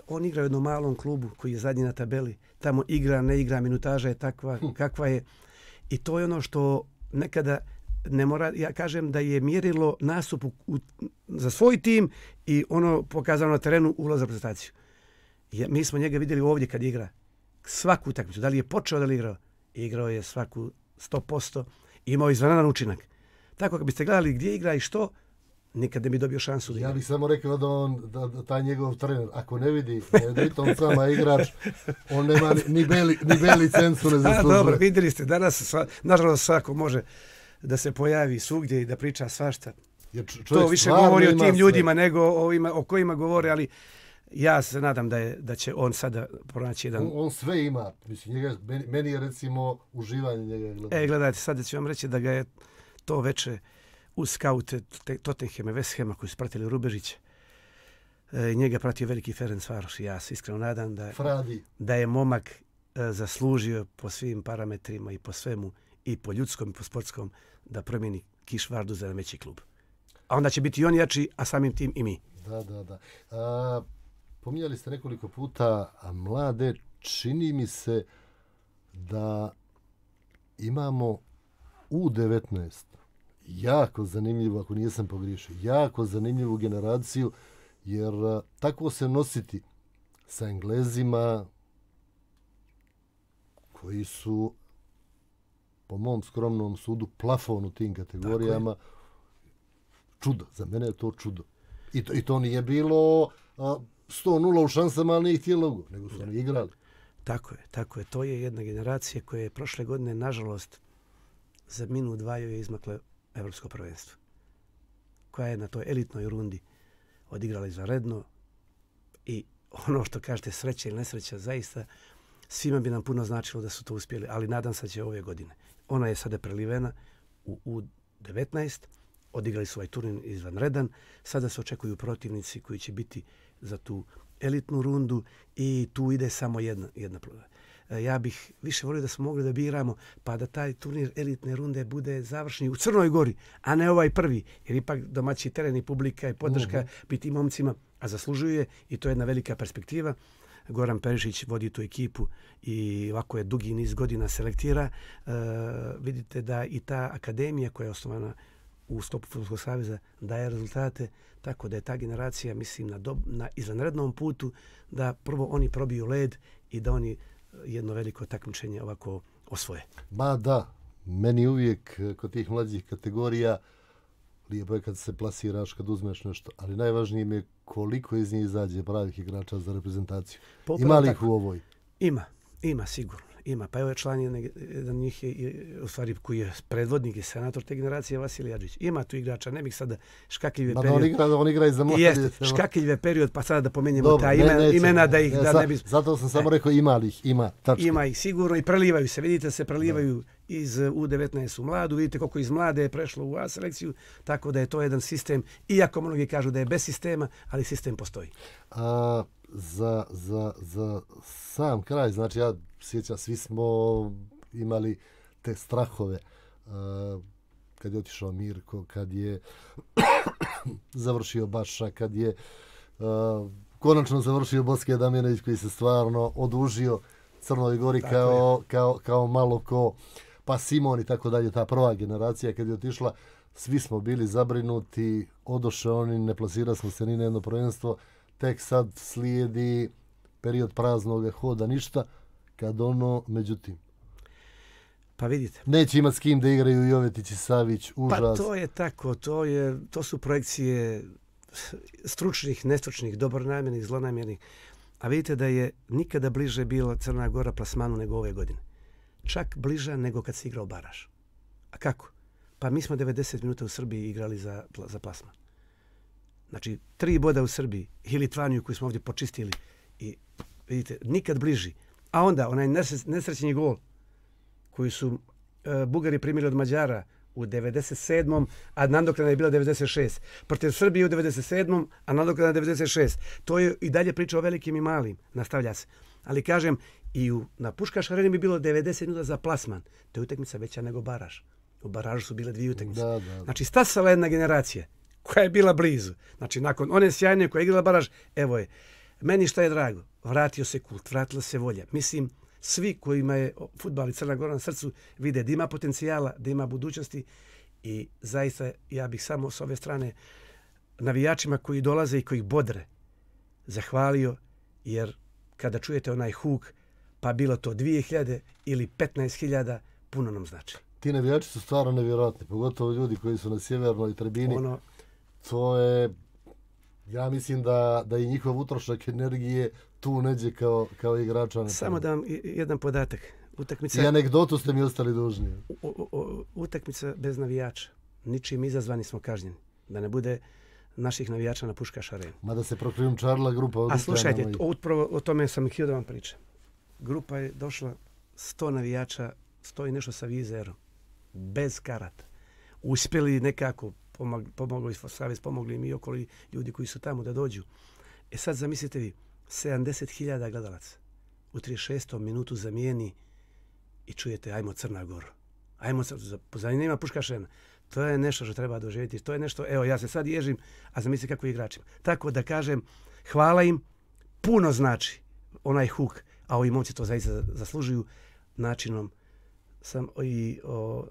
on igra u jednom malom klubu koji je zadnji na tabeli. Tamo igra, ne igra, minutaža je takva kakva je. I to je ono što nekada ne mora, ja kažem da je mjerilo nastup za svoj tim i ono pokazano na terenu ulaz za reprezentaciju. Mi smo njega vidjeli ovdje kad igra svaku utakmicu. Da li je počeo da li igrao? Igrao je svaku 100%. Imao izvanredan učinak. Tako kad biste gledali gdje igra i što, nikad ne bi dobio šansu da igra. Ja bih samo rekao da taj njegov trener, ako ne vidi da je on sama igrač, on nema ni B licencu ne zaslužuje. Dobro, vidjeli ste, danas nažalost svako može da se pojavi svugdje i da priča svašta. To više govori o tim ljudima nego o kojima govore, ali ja se nadam da će on sada pronaći jedan... On sve ima. Mislim, meni je recimo uživanje njega gledati. Gledajte, sada ću vam reći da ga je to veče uz skaute Tottenhama, West Hama koji su pratili Rubežića. Njega pratio veliki Ferencvaroš i ja se iskreno nadam da je momak zaslužio po svim parametrima i po svemu, i po ljudskom i po sportskom, da promijeni Kišvardu za veći klub. A onda će biti i on jači, a samim tim i mi. Da. Pominjali ste nekoliko puta mlade. Čini mi se da imamo U19 jako zanimljivo, ako nisam pogriješio, jako zanimljivu generaciju, jer tako se nositi sa Englezima koji su po mom skromnom sudu plafon u tim kategorijama. Čudo, za mene je to čudo. I to nije bilo 100-0 u šansama, ali nije htjelo, nego su oni igrali. Tako je. To je jedna generacija koja je prošle godine, nažalost, za minut dva je izmakla Evropsko prvenstvo. Koja je na toj elitnoj rundi odigrala izvanredno i ono što kažete, sreća ili nesreća, zaista svima bi nam puno značilo da su to uspjeli, ali nadam se da će ove godine. Ona je sada prelivena u U19, odigrali su ovaj turnir izvanredan, sada se očekuju protivnici koji će biti za tu elitnu rundu i tu ide samo jedna ploda. Ja bih više volio da smo mogli da biramo, pa da taj turnir elitne runde bude završni u Crnoj Gori, a ne ovaj prvi, jer ipak domaći teren i publika i podrška biti momcima, a zaslužuje i to je jedna velika perspektiva. Goran Perišić vodi tu ekipu i ovako je dugi niz godina selektira. Vidite da i ta akademija koja je osnovana u sklopu Fudbalskog saveza daje rezultate, tako da je ta generacija, mislim, na izvanrednom putu da prvo oni probiju led i da oni jedno veliko takmičenje ovako osvoje. Ma da, meni uvijek kod tih mlađih kategorija lijepo je kad se plasiraš, kad uzmeš nešto, ali najvažnije mi je koliko iz njih izađe pravih igrača za reprezentaciju. Ima li ih u ovoj? Ima sigurno. Ima, pa evo je član jedan njih je, u stvari koji je predvodnik i senator te generacije, Vasilij Adžić. Ima tu igrača, ne bih sada škakljive period. On igra i za mlade. Jeste, škakljive period, pa sada da pomenjemo ta imena da ih da ne bi... Zato sam samo rekao ima li ih, ima, tačka. Ima ih sigurno i prelivaju se, vidite se, prelivaju iz U19 u mladu, vidite koliko iz mlade je prešlo u A selekciju, tako da je to jedan sistem, iako mnogi kažu da je bez sistema, ali sistem postoji. Za sam kraj, znači ja sjećam, svi smo imali te strahove kad je otišao Mirko, kad je završio Baša, kad je konačno završio Boske Damjanović koji se stvarno odužio Crnoj Gori kao malo ko, pa Simon i tako dalje, ta prva generacija kad je otišla, svi smo bili zabrinuti, odoše oni, ne plasirali smo se ni na jedno prvenstvo, tek sad slijedi period praznog hoda, ništa, kad ono, međutim. Pa vidite. Neće imati s kim da igraju Jovetić i Savić, užas. Pa to je tako, to su projekcije stručnih, nestručnih, dobronamjernih, zlonamjernih. A vidite da je nikada bliže bila Crna Gora plasmanu nego ove godine. Čak bliža nego kad se igrao baraž. A kako? Pa mi smo 90 minuta u Srbiji igrali za plasman. Znači, 3 boda u Srbiji i Litvaniju koju smo ovdje počistili i vidite, nikad bliži. A onda onaj nesrećni gol koji su Bugari primili od Mađara u 97. a nadoknada je bila 96. Protiv Srbije u 97. a nadoknada 96. To je i dalje priča o velikim i malim, nastavlja se. Ali kažem, i na Puškaš areni bi bilo 90 minuta za plasman. To je utakmica veća nego baraž. U baražu su bile 2 utakmice. Da. Znači, stasala jedna generacija koja je bila blizu. Znači, nakon one sjajne koja je igrala baraž, evo je. Meni šta je drago? Vratio se kult, vratila se volja. Mislim, svi kojima je fudbal i Crna Gora na srcu vide da ima potencijala, da ima budućnosti i zaista ja bih samo s ove strane navijačima koji dolaze i koji bodre zahvalio, jer kada čujete onaj huk, pa bilo to 2000 ili 15.000, puno nam znači. Ti navijači su stvarno nevjerojatni, pogotovo ljudi koji su na sjevernoj tribini. To je, ja mislim da i njihov utrošak energije tu neđe kao igrača. Samo da vam jedan podatak. I anegdotu ste mi ostali dužni. Utakmica bez navijača. Ničim izazvani smo kažnjeni. Da ne bude naših navijača na Puškaš areni. Mada se prokrijumčarila grupa. A slušajte, upravo o tome sam htio da vam pričam. Grupa je došla 100 navijača, 100 i nešto sa vizerom. Bez karata. Uspjeli nekako, pomogli Savez, pomogli mi i okoli ljudi koji su tamo da dođu. E sad zamislite vi, 70.000 gledalaca u 36. minutu zamijeni i čujete ajmo Crna Gora. Ajmo, zanima Puškaš arena. To je nešto što treba doživjeti. To je nešto, evo ja se sad ježim, a zamislite kako igračima. Tako da kažem, hvala im, puno znači onaj huk, a ovi momci to zaista zaslužuju načinom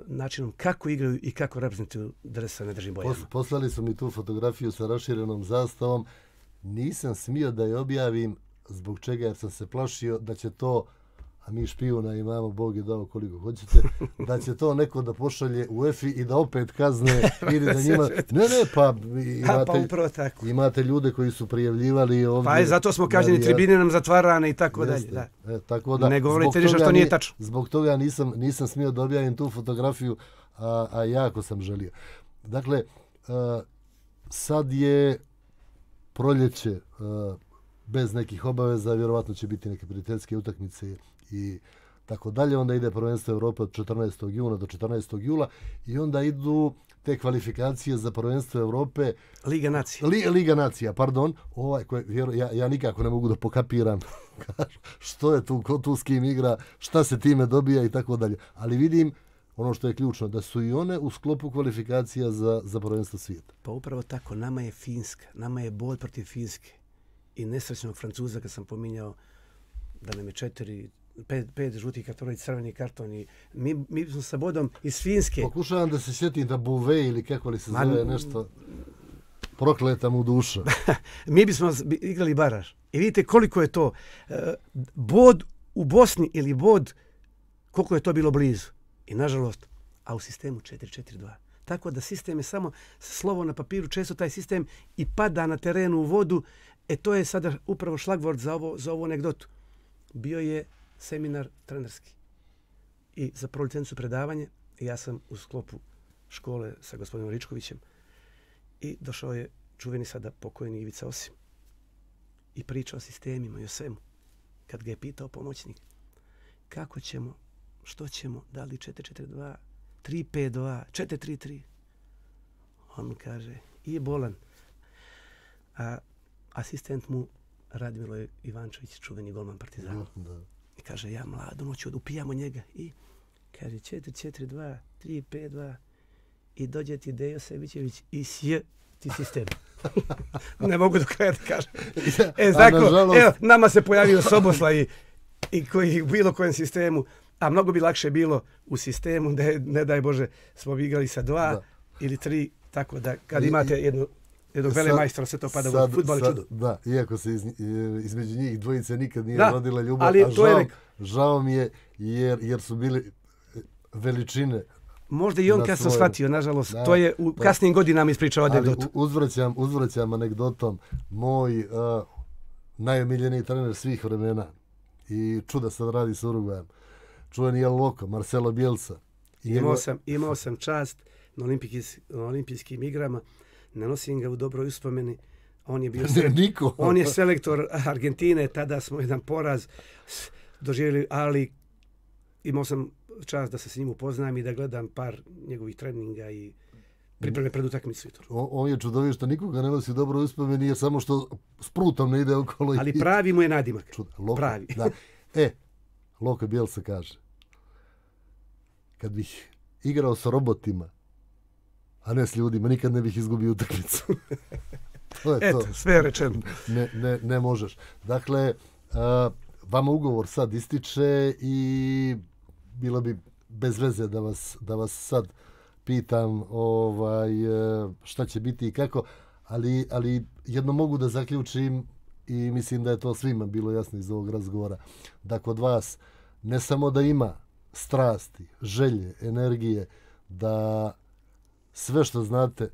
načinom kako igraju i kako reprezentuju dresa ne držim bojama. Poslali su mi tu fotografiju sa raširenom zastavom. Nisam smio da je objavim zbog čega, jer sam se plašio da će to, a mi špijuna imamo, Bog je dao koliko hoćete, da će to neko da pošalje u EFI i da opet kazne. Imate ljude koji su prijavljivali ovdje. Pa zato smo kažnjeni, tribine nam zatvarane i tako dalje. Tako da, ne govorite ništa što nije tačno. Zbog toga nisam smio da objavim tu fotografiju, a jako sam želio. Dakle, sad je proljeće, bez nekih obaveza, vjerovatno će biti neke prijateljske utakmice i tako dalje. Onda ide prvenstvo Evrope od 14. juna do 14. jula i onda idu te kvalifikacije za prvenstvo Evrope. Liga nacija. Liga nacija, pardon. Ja nikako ne mogu da pokapiram što je tu, ko tu s kim igra, šta se time dobija i tako dalje. Ali vidim, ono što je ključno, da su i one u sklopu kvalifikacija za prvenstvo svijeta. Pa upravo tako, nama je Finska, nama je bod protiv Finske. I nesrećnog Francuza, kad sam pominjao da nam je 5 žutih kartona i crveni karton. I mi smo sa bodom iz Finske. Pokušavam da se sjetim da Bouvet ili kako li se zove nešto, prokleta mu duša. Mi bismo igrali baraž. I vidite koliko je to bod u Bosni ili bod, koliko je to bilo blizu. I nažalost, a u sistemu 4-4-2. Tako da sistem je samo slovo na papiru, često taj sistem i pada na terenu u vodu. To je sada upravo šlagvort za ovu anegdotu. Bio je seminar trenerski i za prvu licencu predavanje. Ja sam u sklopu škole sa gospodinom Ričkovićem i došao je čuveni sada pokojni Ivica Osim i pričao o sistemima i o svemu. Kad ga je pitao pomoćnik kako ćemo, što ćemo, da li 4-4-2, 3-5-2, 4-3-3. On kaže, i bolan. A asistent mu Radmilo Ivančević, čuveni golman Partizana. I kaže, ja mlado noću, upijamo njega. I kaže, 4-4-2, 3-5-2. I dođe ti Dejo Sebićević i sje ti sistem. Ne mogu do kraja da kažem. Evo, nama se pojavio Soboslaj i koji u bilo kojem sistemu, a mnogo bi lakše bilo u sistemu da ne daj Bože smo igrali sa 2 ili 3, tako da kad imate jednog velemajstora sve to pada u fudbal čudo. Da, iako se između njih dvojice nikad nije rodila ljubav, a žao mi je jer su bili veličine. Možda i on kad sam shvatio, nažalost, to je u kasnim godinama ispričao anegdotu. Uzvraćam anegdotom. Moj najomiljeniji trener svih vremena i čuda sad radi s Urugvajem. Čuveni je Loko, Marcelo Bielsa. Imao sam čast na olimpijskim igrama, ne nosim ga u dobroj uspomeni. On je selektor Argentine, tada smo jedan poraz doživjeli, ali imao sam čast da se s njim upoznam i da gledam par njegovih treninga i pripreme pred utakmicu. On je čudović što nikoga ne nosi u dobroj uspomeni, jer samo što s prutom ne ide okolo. Ali pravi mu je nadimak. Pravi. Da. Loko Bielsa kaže, kad bih igrao sa robotima, a ne s ljudima, nikad ne bih izgubio utakmicu. To je Eto, to. sve je rečeno. Ne možeš. Dakle, vama ugovor sad ističe i bilo bi bez veze da vas sad pitam šta će biti i kako, ali jedno mogu da zaključim i mislim da je to svima bilo jasno iz ovog razgovora, da kod vas ne samo da ima strasti, želje, energije, da sve što znate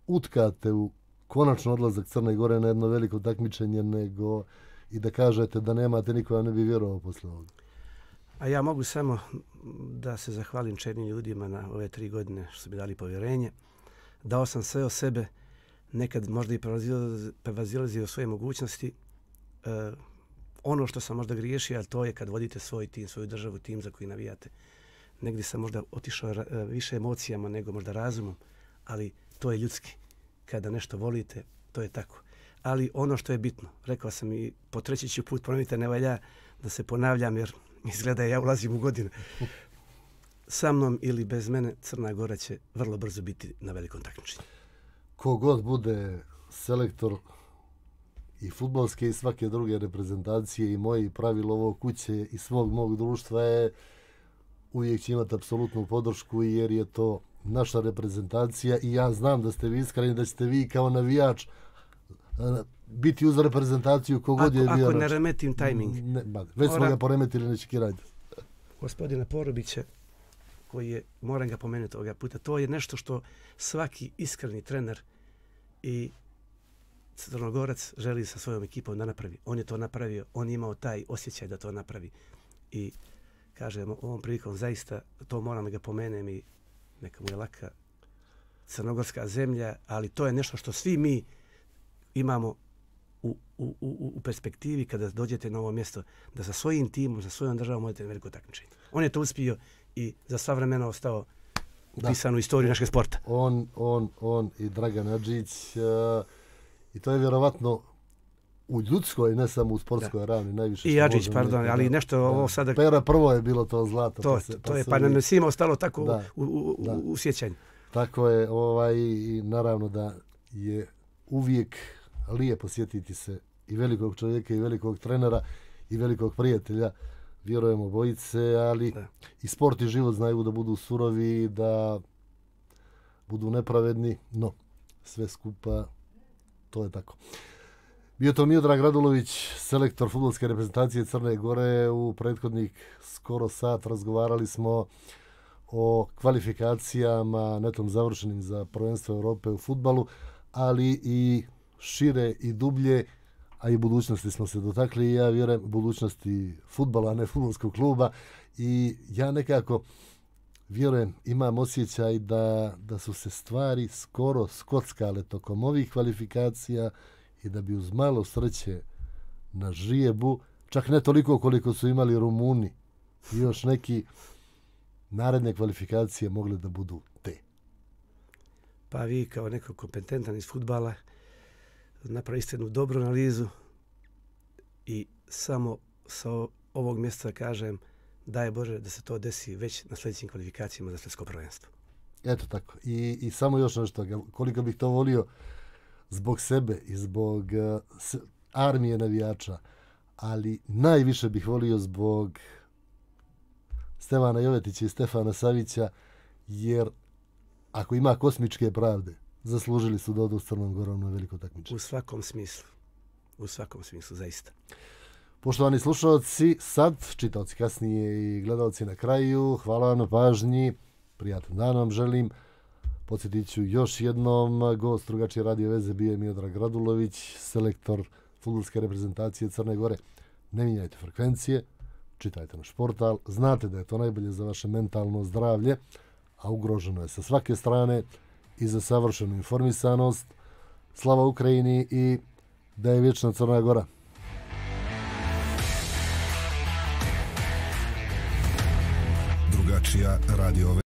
utkate u konačno odlazak Crne Gore na jedno veliko takmičenje, nego i da kažete da nemate nikoga ne bi vjerovao posle ovoga. A ja mogu samo da se zahvalim čelnim ljudima na ove 3 godine što su mi dali povjerenje. Dao sam sve o sebe, nekad možda i prevazilazio svoje mogućnosti. Ono što sam možda griješio, ali to je kad vodite svoj tim, svoju državu, tim za koji navijate. Negdje sam možda otišao više emocijama nego možda razumom, ali to je ljudski. Kada nešto volite, to je tako. Ali ono što je bitno, rekao sam i po 3. ću put ponovite, ne valja da se ponavljam jer izgleda ja ulazim u godine. Sa mnom ili bez mene Crna Gora će vrlo brzo biti na velikom takmičenju. Kogod bude selektor i fudbalske i svake druge reprezentacije i moje pravilo ovog kuće i svog mog društva je uvijek će imati apsolutnu podršku jer je to naša reprezentacija i ja znam da ste vi iskreni, da ćete vi kao navijač biti uz reprezentaciju kogod je bio. Ako ne remetim tajming. Već smo ga poremetili, neće kirati. Gospodina Porobića, koji je, moram ga pomenuti ovoga puta, to je nešto što svaki iskreni trener i Crnogorac želi sa svojom ekipom da napravi. On je to napravio, on je imao taj osjećaj da to napravi. I kažem, ovom prilikom zaista to moram da ga pomenem i neka mu je laka crnogorska zemlja, ali to je nešto što svi mi imamo u perspektivi kada dođete na ovo mjesto, da sa svojim timom, sa svojom državom možete na veliko takmičenje. On je to uspio i za sva vremena ostao upisan u istoriju našeg sporta. On i Dragan Adžić i to je vjerovatno u ljudskoj, ne samo u sportskoj ravni, najviše. I Adžić, pardon, ali nešto ovo sada... Pera prvo je bilo to zlato. Pa nam je svima ostalo tako u sjećanju. Tako je, i naravno da je uvijek lijepo sjetiti se i velikog čovjeka i velikog trenera i velikog prijatelja. Vjerujemo bojice, ali i sport i život znaju da budu surovi, da budu nepravedni, no sve skupa to je tako. Bio to Miodrag Radulović, selektor fudbalske reprezentacije Crne Gore. U prethodnih skoro sat razgovarali smo o kvalifikacijama netom završenim za prvenstvo Europe u fudbalu, ali i šire i dublje, a i budućnosti smo se dotakli. Ja vjerujem budućnosti fudbala, a ne fudbalskog kluba. I ja nekako vjerujem, imam osjećaj da su se stvari skoro skockale tokom ovih kvalifikacija i da bi uz malo sreće na žrijebu, čak ne toliko koliko su imali Rumuni i još neki, naredne kvalifikacije mogle da budu te. Pa vi kao neko kompetentan iz fudbala napravite jednu dobru analizu i samo sa ovog mjesta kažem daj Bože da se to desi već na sljedećim kvalifikacijama za svjetsko prvenstvo. Eto tako. I samo još nešto, koliko bih to volio zbog sebe i zbog armije navijača, ali najviše bih volio zbog Stevana Jovetića i Stefana Savića, jer ako ima kosmičke pravde, zaslužili su da odu s Crnom Gorom na veliko takmičenje. U svakom smislu, zaista. Poštovani slušalci, sad, čitaoci kasnije i gledalci na kraju, hvala vam na pažnji, prijatan dan vam želim. Podsjetit ću još jednom, gost drugačije radio veze bio je Miodrag Radulović, selektor fudbalske reprezentacije Crne Gore. Ne mijenjajte frekvencije, čitajte naš portal, znate da je to najbolje za vaše mentalno zdravlje, a ugroženo je sa svake strane i za savršenu informisanost. Slava Ukrajini i da je vječna Crna Gora. Drugačija radio